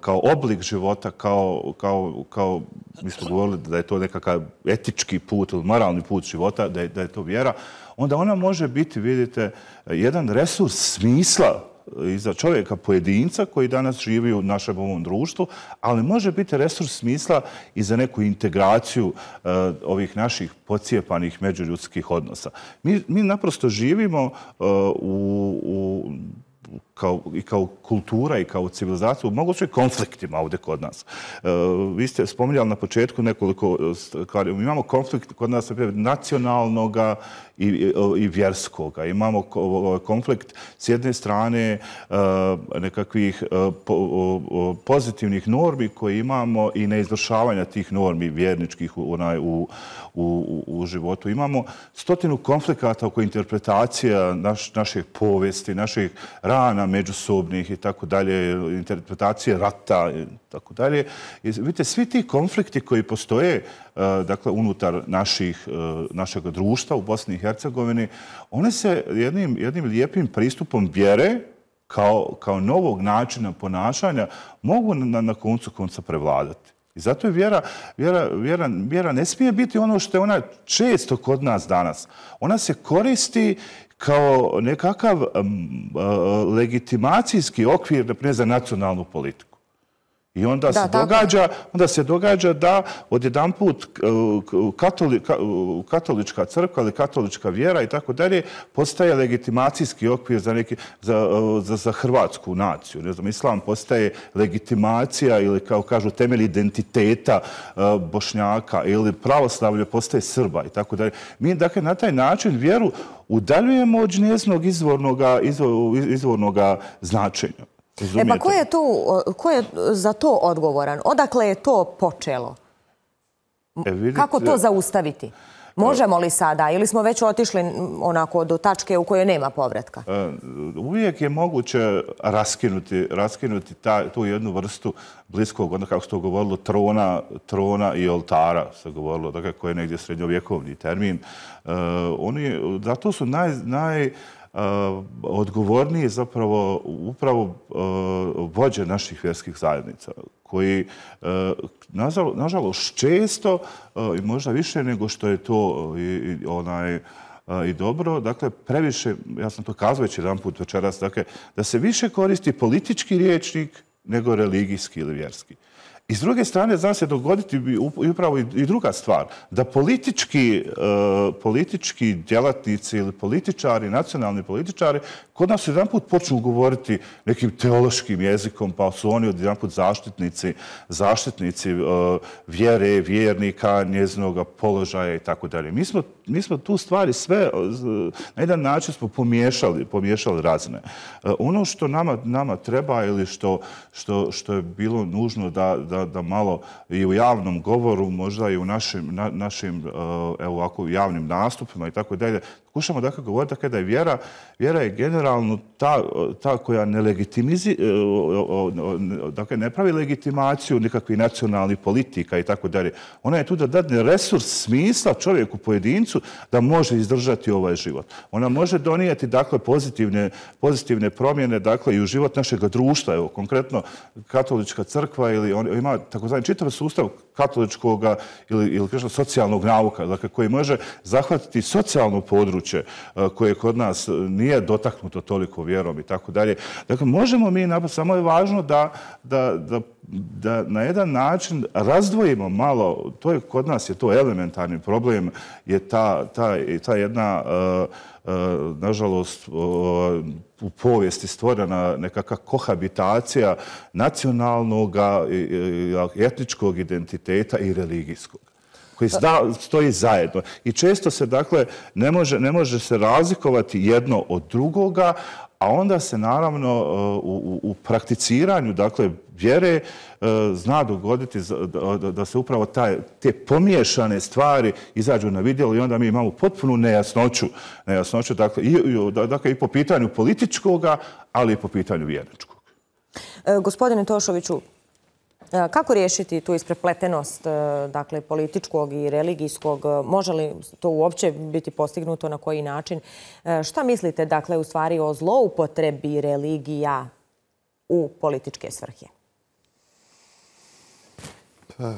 kao oblik života, kao, kao, kao mi smo govorili da je to nekakav etički put ili moralni put života, da je, da je to vjera, onda ona može biti, vidite, jedan resurs smisla i za čovjeka pojedinca koji danas živi u našem ovom društvu, ali može biti resurs smisla i za neku integraciju uh, ovih naših pocijepanih međuljudskih odnosa. Mi, mi naprosto živimo uh, u, u kao, i kao kultura i kao civilizaciju, mogu su i konfliktima ovdje kod nas. Vi ste spominjali na početku nekoliko stvari. Mi imamo konflikt kod nas nacionalnog i, i vjerskog. Imamo konflikt s jedne strane nekakvih pozitivnih normi koje imamo i neizvršavanja tih normi vjerničkih u, u, u, u životu. Imamo stotinu konflikata oko interpretacija naš, naših povijesti, naših rana međusobnih i tako dalje, interpretacije rata i tako dalje. I vidite, svi ti konflikti koji postoje dakle, unutar naših, našeg društva u Bosni i Hercegovini, one se jednim, jednim lijepim pristupom vjere kao, kao novog načina ponašanja mogu na, na koncu konca prevladati. I zato je vjera, vjera, vjera, vjera ne smije biti ono što je ona često kod nas danas. Ona se koristi kao nekakav um, uh, legitimacijski okvir, naprimjer, za nacionalnu politiku. I onda, da, se događa, onda se događa da odjedanput katoli, katolička crkva ili katolička vjera i tako dalje postaje legitimacijski okvir za, neki, za, za, za hrvatsku naciju. Ne znam, islam postaje legitimacija ili, kao kažu, temelj identiteta Bošnjaka ili pravoslavlje postaje Srba i tako dalje. Mi, dakle, na taj način vjeru udaljujemo od njezinog izvornoga, izvor, izvornoga značenja. E pa ko je, tu, ko je za to odgovoran? Odakle je to počelo? E, vidite, kako to zaustaviti? Možemo li sada ili smo već otišli onako do tačke u kojoj nema povratka? Uvijek je moguće raskinuti, raskinuti ta, tu jednu vrstu bliskog, onda kako se to govorilo, trona, trona i oltara, se govorilo, dakle, koji je negdje srednjovjekovni termin. Uh, oni, zato su naj... naj Uh, odgovorniji zapravo upravo uh, vođe naših vjerskih zajednica koji uh, nažalost često uh, i možda više nego što je to i, i, onaj, uh, i dobro, dakle previše, ja sam to kazao već jedan put večeras, dakle, da se više koristi politički rječnik nego religijski ili vjerski. I s druge strane, zna se dogoditi upravo i druga stvar, da politički, uh, politički djelatnici ili političari, nacionalni političari, kod nas jedan put počnu govoriti nekim teološkim jezikom, pa su oni jedan put zaštitnici, zaštitnici uh, vjere, vjernika, njezinog položaja i tako dalje. Mi smo, mi smo tu stvari sve, uh, na jedan način smo pomiješali, pomiješali razne. Uh, ono što nama, nama treba ili što, što, što je bilo nužno da, da, da malo i u javnom govoru, možda i u našim, na, našim uh, evo ovako, javnim nastupima i tako dalje, pokušamo dakle govoriti dakle, da je vjera, vjera je generalno ta, ta koja ne legitimizi, dakle ne pravi legitimaciju nikakvih nacionalnih politika i tako dalje. Ona je tu da dadne resurs smisla čovjeku, pojedincu, da može izdržati ovaj život. Ona može donijeti dakle pozitivne, pozitivne promjene dakle i u život našeg društva. Evo, konkretno katolička crkva ili on ima takozvani čitav sustav katoličkog ili, ili kažem, socijalnog nauka, dakle, koji može zahvatiti socijalno područje koje kod nas nije dotaknuto toliko vjerom i tako dalje. Dakle, možemo mi, samo je važno da, da, da, da na jedan način razdvojimo malo, to je kod nas je to elementarni problem, je ta, ta, ta jedna, nažalost, u povijesti stvorena nekakva kohabitacija nacionalnog, etničkog identiteta i religijskog, koji stoji zajedno. I često se, dakle, ne može, ne može se razlikovati jedno od drugoga, a onda se naravno u, u prakticiranju, dakle, vjere zna dogoditi da se upravo taj, te pomiješane stvari izađu na vidjelo i onda mi imamo potpunu nejasnoću, nejasnoću dakle, i, dakle, i po pitanju političkoga, ali i po pitanju vjerničkog. E, gospodine Tošoviću, kako riješiti tu isprepletenost dakle, političkog i religijskog? Može li to uopće biti postignuto, na koji način? Šta mislite dakle, u stvari o zloupotrebi religija u političke svrhe? Pa,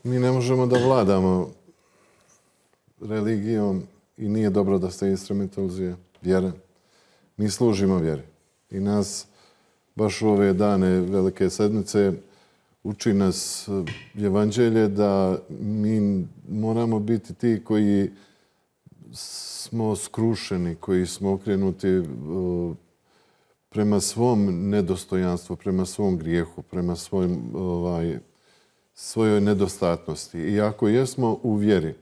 mi ne možemo da vladamo religijom i nije dobro da se instrumentalizuje vjera. Mi služimo vjeri i nas baš u ove dane Velike sedmice uči nas evanđelje da mi moramo biti ti koji smo skrušeni, koji smo okrenuti prema svom nedostojanstvu, prema svom grijehu, prema svojim, ovaj, svojoj nedostatnosti. I ako jesmo u vjeri,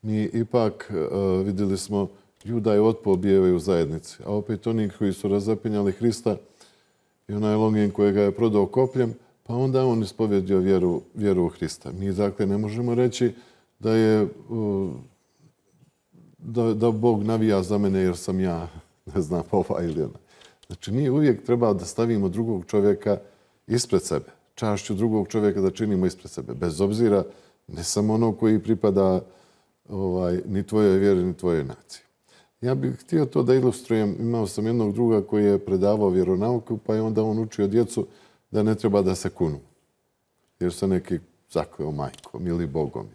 mi ipak uh, vidjeli smo Juda je otpao bijevaju u zajednici. A opet oni koji su razapinjali Hrista i onaj Longin kojega je prodao kopljem, pa onda on ispovjedio vjeru, vjeru u Hrista. Mi dakle ne možemo reći da je uh, da, da Bog navija za mene jer sam ja, ne znam, ova ili ona. Znači mi uvijek treba da stavimo drugog čovjeka ispred sebe. Čašću drugog čovjeka da činimo ispred sebe. Bez obzira ne samo ono koji pripada ovaj, ni tvojoj vjeri, ni tvojoj naciji. Ja bih htio to da ilustrujem. Imao sam jednog druga koji je predavao vjeronauku, pa je onda on učio djecu da ne treba da se kunu. Jer se neki zakleo majkom ili Bogom.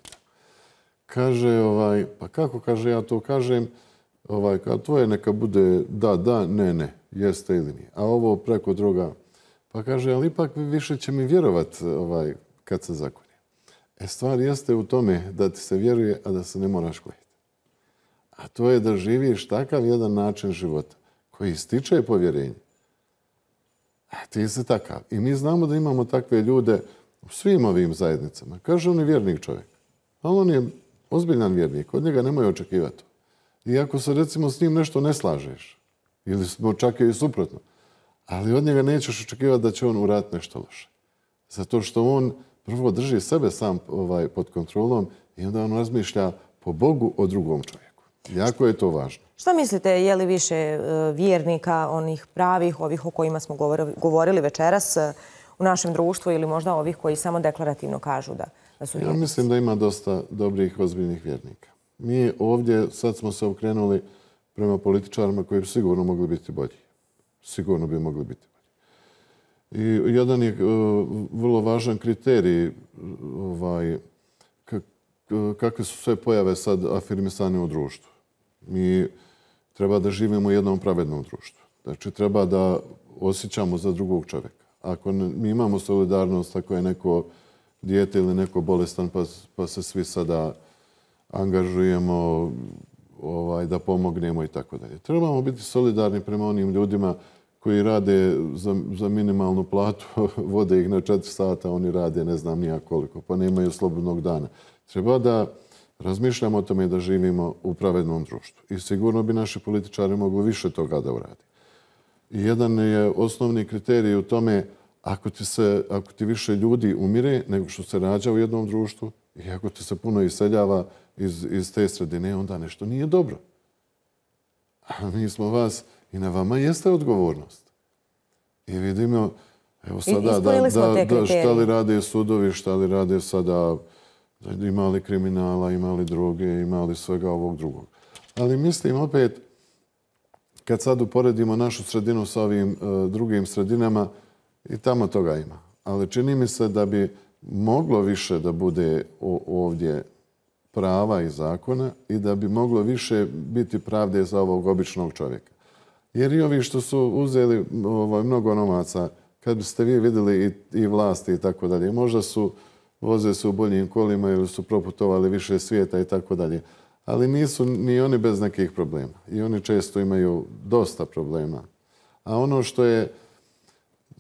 Kaže, ovaj, pa kako kaže, ja to kažem, ovaj, kao tvoje neka bude da, da, ne, ne, jeste ili nije. A ovo preko droga, pa kaže, ali ipak više će mi vjerovat ovaj, kad se zakoni. E, stvar jeste u tome da ti se vjeruje, a da se ne moraš klijeti. A to je da živiš takav jedan način života koji stiče povjerenje. A ti si takav. I mi znamo da imamo takve ljude u svim ovim zajednicama. Kaže, on je vjernik čovjek. A on je ozbiljan vjernik. Od njega nemoj očekivati. I ako se recimo s njim nešto ne slažeš, ili smo čak i suprotno, ali od njega nećeš očekivati da će on uraditi nešto loše. Zato što on prvo drži sebe sam ovaj, pod kontrolom i onda on razmišlja po Bogu o drugom čovjeku. Jako je to važno. Šta mislite, je li više vjernika, onih pravih, ovih o kojima smo govorili večeras u našem društvu ili možda ovih koji samo deklarativno kažu da, da su vjernici? Ja mislim da ima dosta dobrih, ozbiljnih vjernika. Mi ovdje sad smo se okrenuli prema političarima koji bi sigurno mogli biti bolji. Sigurno bi mogli biti bolji. I jedan je uh, vrlo važan kriterij ovaj, kak, kakve su sve pojave sad afirmisane u društvu. Mi treba da živimo u jednom pravednom društvu. Znači treba da osjećamo za drugog čovjeka. Ako ne, mi imamo solidarnost, ako je neko dijete ili neko bolestan pa, pa se svi sada angažujemo ovaj, da pomognemo i tako dalje. Trebamo biti solidarni prema onim ljudima koji rade za, za minimalnu platu, vode ih na četiri sata, oni rade ne znam nija koliko, pa nemaju slobodnog dana. Treba da razmišljamo o tome da živimo u pravednom društvu. I sigurno bi naši političari mogli više toga da uradi. I jedan je osnovni kriterij u tome ako ti, se, ako ti više ljudi umire nego što se rađa u jednom društvu i ako ti se puno iseljava iz, iz te sredine, onda nešto nije dobro. A mi smo vas i na vama jeste odgovornost. I vidimo, evo sada, da, da, da, šta li rade sudovi, šta li rade sada, da imali kriminala, imali droge, imali svega ovog drugog. Ali mislim opet, kad sad uporedimo našu sredinu sa ovim uh, drugim sredinama, i tamo toga ima. Ali čini mi se da bi moglo više da bude ovdje prava i zakona i da bi moglo više biti pravde za ovog običnog čovjeka. Jer i ovi što su uzeli ovaj, mnogo novaca, kad biste vi vidjeli i, i vlasti i tako dalje, možda su voze se u boljim kolima ili su proputovali više svijeta i tako dalje. Ali nisu ni oni bez nekih problema. I oni često imaju dosta problema. A ono što je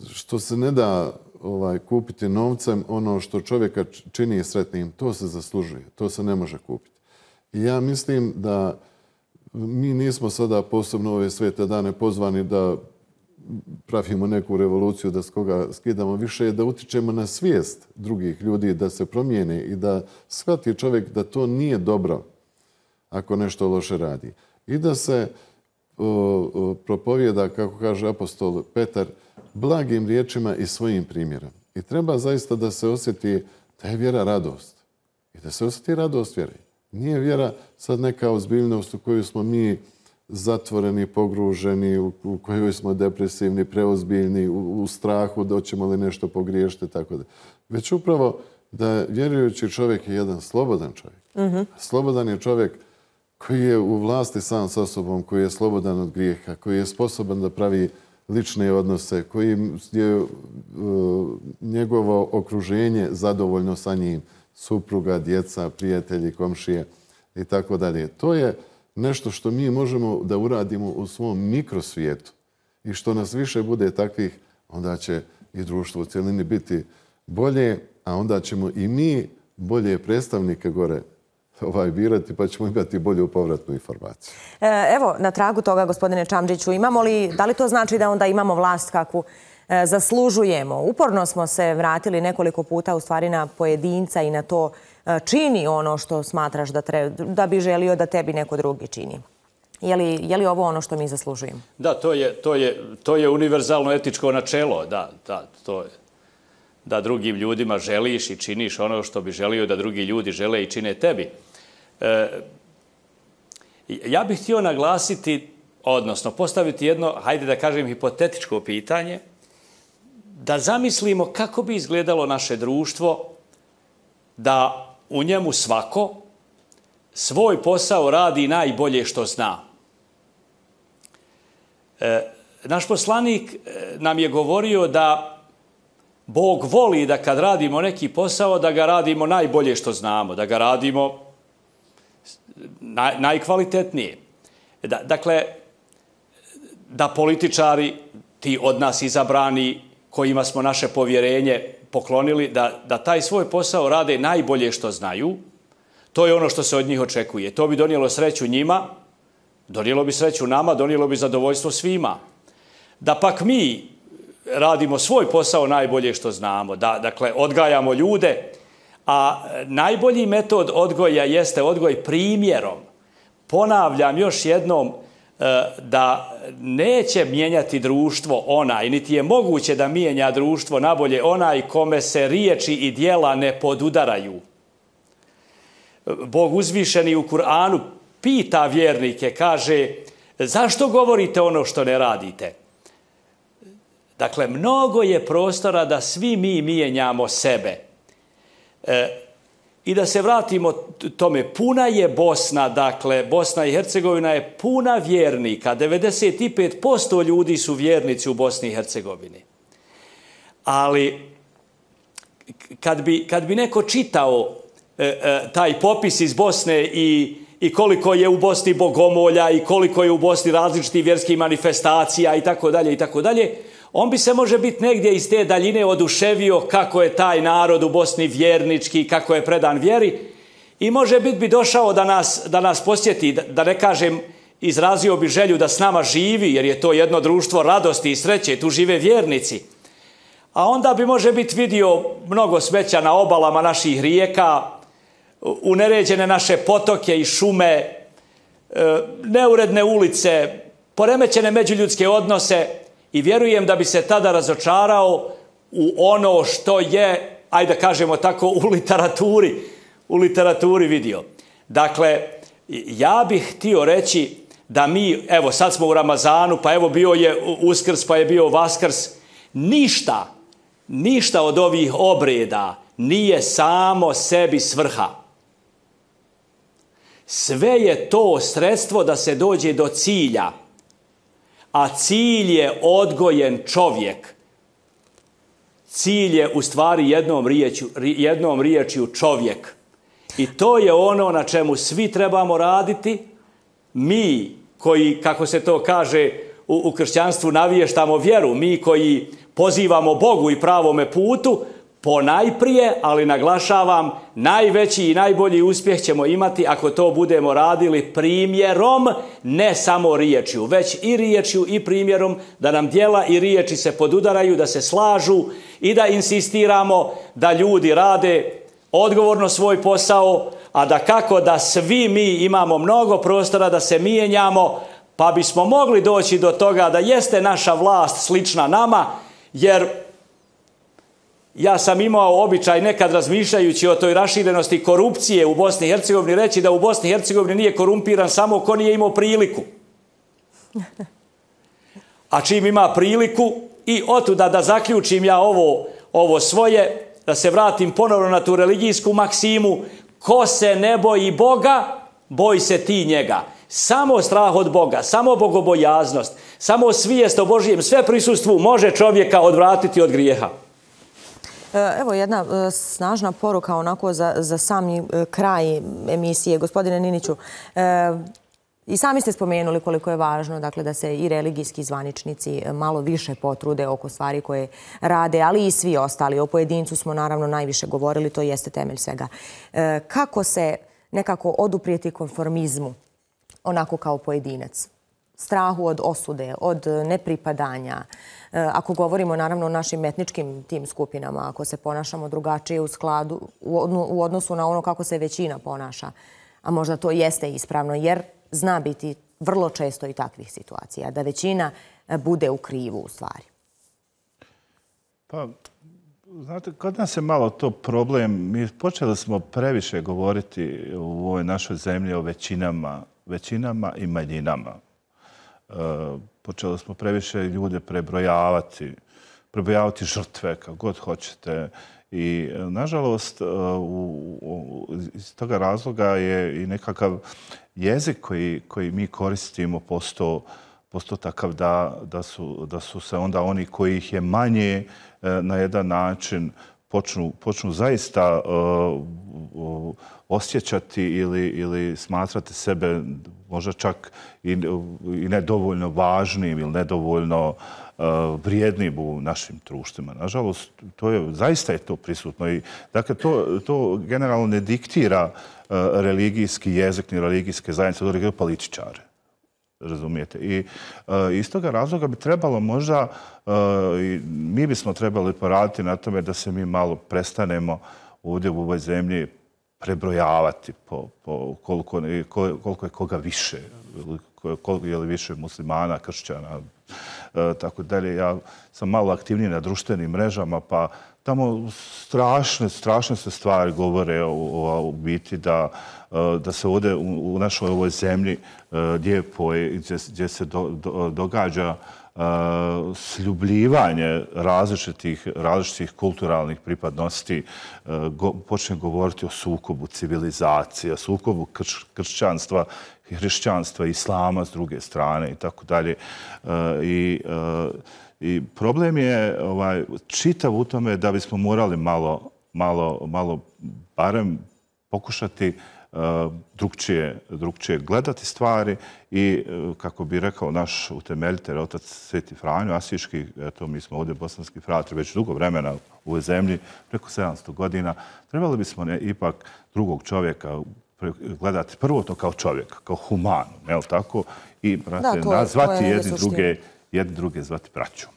što se ne da ovaj, kupiti novcem, ono što čovjeka čini sretnim, to se zaslužuje. To se ne može kupiti. I ja mislim da mi nismo sada posebno ove svete dane pozvani da pravimo neku revoluciju, da s koga skidamo više, da utičemo na svijest drugih ljudi, da se promijene i da shvati čovjek da to nije dobro ako nešto loše radi. I da se o, o, propovjeda, kako kaže apostol Petar, blagim riječima i svojim primjerom. I treba zaista da se osjeti da je vjera radost. I da se osjeti radost vjere. Nije vjera sad neka ozbiljnost u koju smo mi zatvoreni, pogruženi, u, u kojoj smo depresivni, preozbiljni, u, u strahu da ćemo li nešto pogriješiti, tako da. Već upravo da vjerujući čovjek je jedan slobodan čovjek. Mm-hmm. Slobodan je čovjek koji je u vlasti sam sa sobom, koji je slobodan od grijeha, koji je sposoban da pravi lične odnose, koji je uh, njegovo okruženje zadovoljno sa njim, supruga, djeca, prijatelji, komšije i tako dalje. To je nešto što mi možemo da uradimo u svom mikrosvijetu i što nas više bude takvih, onda će i društvo u cjelini biti bolje, a onda ćemo i mi bolje predstavnike gore ovaj birati, pa ćemo imati bolju povratnu informaciju. Evo, na tragu toga, gospodine Čamdžiću, imamo li, da li to znači da onda imamo vlast kakvu zaslužujemo? Uporno smo se vratili nekoliko puta u stvari na pojedinca i na to čini ono što smatraš da, treba, da bi želio da tebi neko drugi čini. Je li, je li ovo ono što mi zaslužujemo? Da, to je, to je, to je univerzalno etičko načelo, da, da, to je. Da drugim ljudima želiš i činiš ono što bi želio da drugi ljudi žele i čine tebi. E, ja bih htio naglasiti, odnosno postaviti jedno, hajde da kažem, hipotetičko pitanje, da zamislimo kako bi izgledalo naše društvo da u njemu svako svoj posao radi najbolje što zna. E, naš poslanik nam je govorio da Bog voli da kad radimo neki posao, da ga radimo najbolje što znamo, da ga radimo naj, najkvalitetnije. Da, dakle, da političari, ti od nas izabrani, kojima smo naše povjerenje poklonili, da, da taj svoj posao rade najbolje što znaju, to je ono što se od njih očekuje. To bi donijelo sreću njima, donijelo bi sreću nama, donijelo bi zadovoljstvo svima. Da pak mi radimo svoj posao najbolje što znamo, da, dakle, odgajamo ljude, a najbolji metod odgoja jeste odgoj primjerom. Ponavljam još jednom da neće mijenjati društvo onaj, niti je moguće da mijenja društvo nabolje onaj kome se riječi i djela ne podudaraju. Bog uzvišeni u Kur'anu pita vjernike, kaže, zašto govorite ono što ne radite? Dakle, mnogo je prostora da svi mi mijenjamo sebe. E, I da se vratimo tome, puna je Bosna, dakle, Bosna i Hercegovina je puna vjernika. devedeset pet posto ljudi su vjernici u Bosni i Hercegovini. Ali, kad bi, kad bi neko čitao e, e, taj popis iz Bosne i, i koliko je u Bosni bogomolja i koliko je u Bosni različitih vjerskih manifestacija i tako dalje i tako dalje, on bi se može biti negdje iz te daljine oduševio kako je taj narod u Bosni vjernički, kako je predan vjeri i može biti bi došao da nas, da nas posjeti, da, da ne kažem, izrazio bi želju da s nama živi, jer je to jedno društvo radosti i sreće, tu žive vjernici. A onda bi može biti vidio mnogo smeća na obalama naših rijeka, uneređene naše potoke i šume, neuredne ulice, poremećene međuljudske odnose, i vjerujem da bi se tada razočarao u ono što je, ajde da kažemo tako, u literaturi, u literaturi vidio. Dakle, ja bih htio reći da mi, evo sad smo u Ramazanu, pa evo bio je Uskrs, pa je bio Vaskrs, ništa, ništa od ovih obreda nije samo sebi svrha. Sve je to sredstvo da se dođe do cilja. A cilj je odgojen čovjek. Cilj je u stvari jednom riječju, jednom riječju čovjek. I to je ono na čemu svi trebamo raditi. Mi koji, kako se to kaže u, u kršćanstvu, naviještamo vjeru, mi koji pozivamo Bogu i pravome putu, ponajprije, ali naglašavam, najveći i najbolji uspjeh ćemo imati ako to budemo radili primjerom, ne samo riječju, već i riječju i primjerom, da nam djela i riječi se podudaraju, da se slažu i da insistiramo da ljudi rade odgovorno svoj posao, a da kako da svi mi imamo mnogo prostora da se mijenjamo, pa bismo mogli doći do toga da jeste naša vlast slična nama, jer ja sam imao običaj nekad razmišljajući o toj raširenosti korupcije u Bosni i Hercegovini reći da u Bosni i Hercegovini nije korumpiran samo ko nije imao priliku. A čim ima priliku i otuda da zaključim ja ovo, ovo svoje, da se vratim ponovno na tu religijsku maksimu, ko se ne boji Boga, boj se ti njega. Samo strah od Boga, samo bogobojaznost, samo svijest o Božijem sve prisustvu može čovjeka odvratiti od grijeha. Evo jedna snažna poruka onako za, za sami kraj emisije. Gospodine Niniću, I sami ste spomenuli koliko je važno dakle, da se i religijski zvaničnici malo više potrude oko stvari koje rade, ali i svi ostali. O pojedincu smo naravno najviše govorili, to jeste temelj svega. E, kako se nekako oduprijeti konformizmu onako kao pojedinac? Strahu od osude, od nepripadanja. Ako govorimo naravno o našim etničkim tim skupinama, ako se ponašamo drugačije u skladu, u odnosu na ono kako se većina ponaša, a možda to jeste ispravno, jer zna biti vrlo često i takvih situacija, da većina bude u krivu u stvari. Pa, znate, kod nas je malo to problem. Mi počeli smo previše govoriti u ovoj našoj zemlji o većinama, većinama i manjinama. Počeli smo previše ljude prebrojavati, prebrojavati žrtve, kako god hoćete. I, nažalost, iz toga razloga je i nekakav jezik koji, koji mi koristimo postao, postao takav da, da, su, da su se onda oni koji ih je manje na jedan način počnu, počnu zaista uh, osjećati ili, ili smatrati sebe možda čak i, i nedovoljno važnim ili nedovoljno uh, vrijednim u našim društvima. Nažalost, to je, zaista je to prisutno. I, dakle, to, to generalno ne diktira uh, religijski jezik ni religijske zajednice, to diktira političare. Razumijete? I uh, iz toga razloga bi trebalo možda, uh, i mi bismo trebali poraditi na tome da se mi malo prestanemo ovdje u ovoj zemlji prebrojavati po, po koliko, koliko je koga više, koliko je li više muslimana, kršćana, uh, tako dalje. Ja sam malo aktivniji na društvenim mrežama, pa tamo strašne, strašne se stvari govore o, o, o biti da, da se ovdje u, u našoj ovoj zemlji lijepoj, gdje, gdje se do, do, događa uh, sljubljivanje različitih, različitih kulturalnih pripadnosti, uh, go, počne govoriti o sukobu civilizacije, sukobu krš, kršćanstva, hrišćanstva, islama s druge strane i tako dalje. I I problem je ovaj, čitav u tome da bismo morali malo, malo, malo barem pokušati uh, drugčije, drugčije gledati stvari i, uh, kako bi rekao naš utemeljitelj, otac Sveti Franjo Asiški, eto, mi smo ovdje bosanski fratri već dugo vremena u ovoj zemlji, preko sedamsto godina, trebali bismo ne, ipak drugog čovjeka gledati prvo to kao čovjeka, kao humanu, jel tako? I, brate, da, nazvati jedni druge, jedni druge zvati braćom.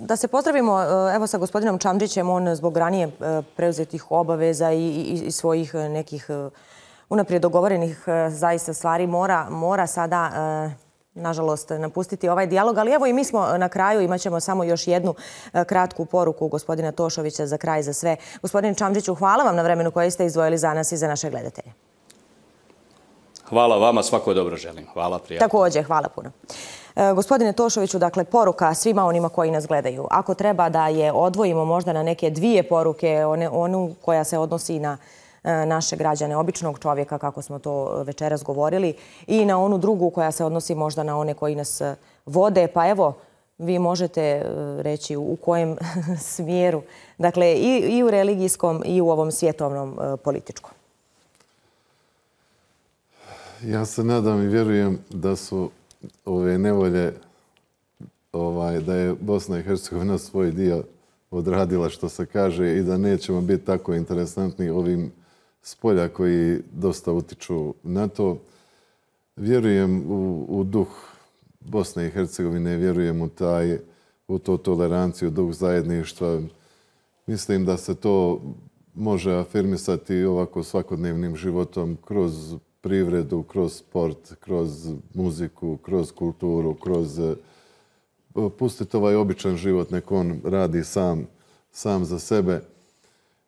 Da se pozdravimo evo sa gospodinom Čamdžićem, on zbog ranije preuzetih obaveza i, i, i svojih nekih unaprijed dogovorenih zaista stvari mora, mora sada, nažalost, napustiti ovaj dijalog. Ali evo i mi smo na kraju, imat ćemo samo još jednu kratku poruku gospodina Tošovića za kraj za sve. Gospodine Čamdžiću, hvala vam na vremenu koje ste izdvojili za nas i za naše gledatelje. Hvala vama, svako dobro želim. Hvala, prijatno. Također, hvala puno. E, gospodine Tošoviću, dakle, poruka svima onima koji nas gledaju. Ako treba da je odvojimo možda na neke dvije poruke, one, onu koja se odnosi na e, naše građane, običnog čovjeka, kako smo to večeras govorili, i na onu drugu koja se odnosi možda na one koji nas vode, pa evo, vi možete reći u kojem smjeru, dakle, i, i u religijskom i u ovom svjetovnom e, političkom. Ja se nadam i vjerujem da su ove nevolje, ovaj, da je Bosna i Hercegovina svoj dio odradila, što se kaže, i da nećemo biti tako interesantni ovim spolja koji dosta utiču na to. Vjerujem u, u duh Bosne i Hercegovine, vjerujem u, taj, u to toleranciju, duh zajedništva. Mislim da se to može afirmisati ovako svakodnevnim životom kroz privredu, kroz sport, kroz muziku, kroz kulturu, kroz pustiti ovaj običan život, nek on radi sam, sam za sebe.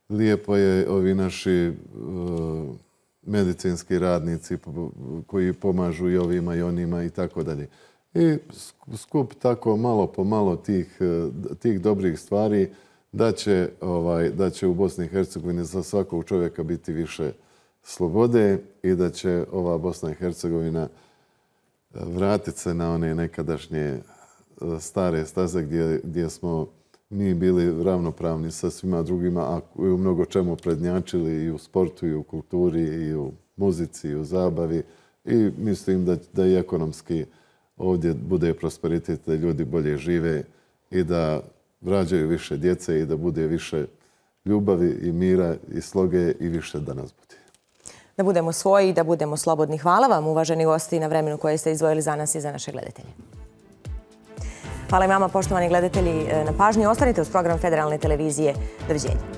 Lijepo je ovi naši uh, medicinski radnici koji pomažu i ovima i onima i tako dalje. I skup tako malo po malo tih, tih dobrih stvari da će, ovaj, da će u Bosni i Hercegovini za svakog čovjeka biti više slobode i da će ova Bosna i Hercegovina vratiti se na one nekadašnje stare staze gdje, gdje smo mi bili ravnopravni sa svima drugima, a u mnogo čemu prednjačili i u sportu, i u kulturi, i u muzici, i u zabavi. i mislim da, da i ekonomski ovdje bude prosperitet, da ljudi bolje žive i da rađaju više djece i da bude više ljubavi i mira i sloge i više da nas bude. Da budemo svoji, da budemo slobodni. Hvala vam, uvaženi gosti, na vremenu koje ste izdvojili za nas i za naše gledatelje. Hvala i vama, poštovani gledatelji, na pažnji. Ostanite uz program Federalne televizije. Doviđenja.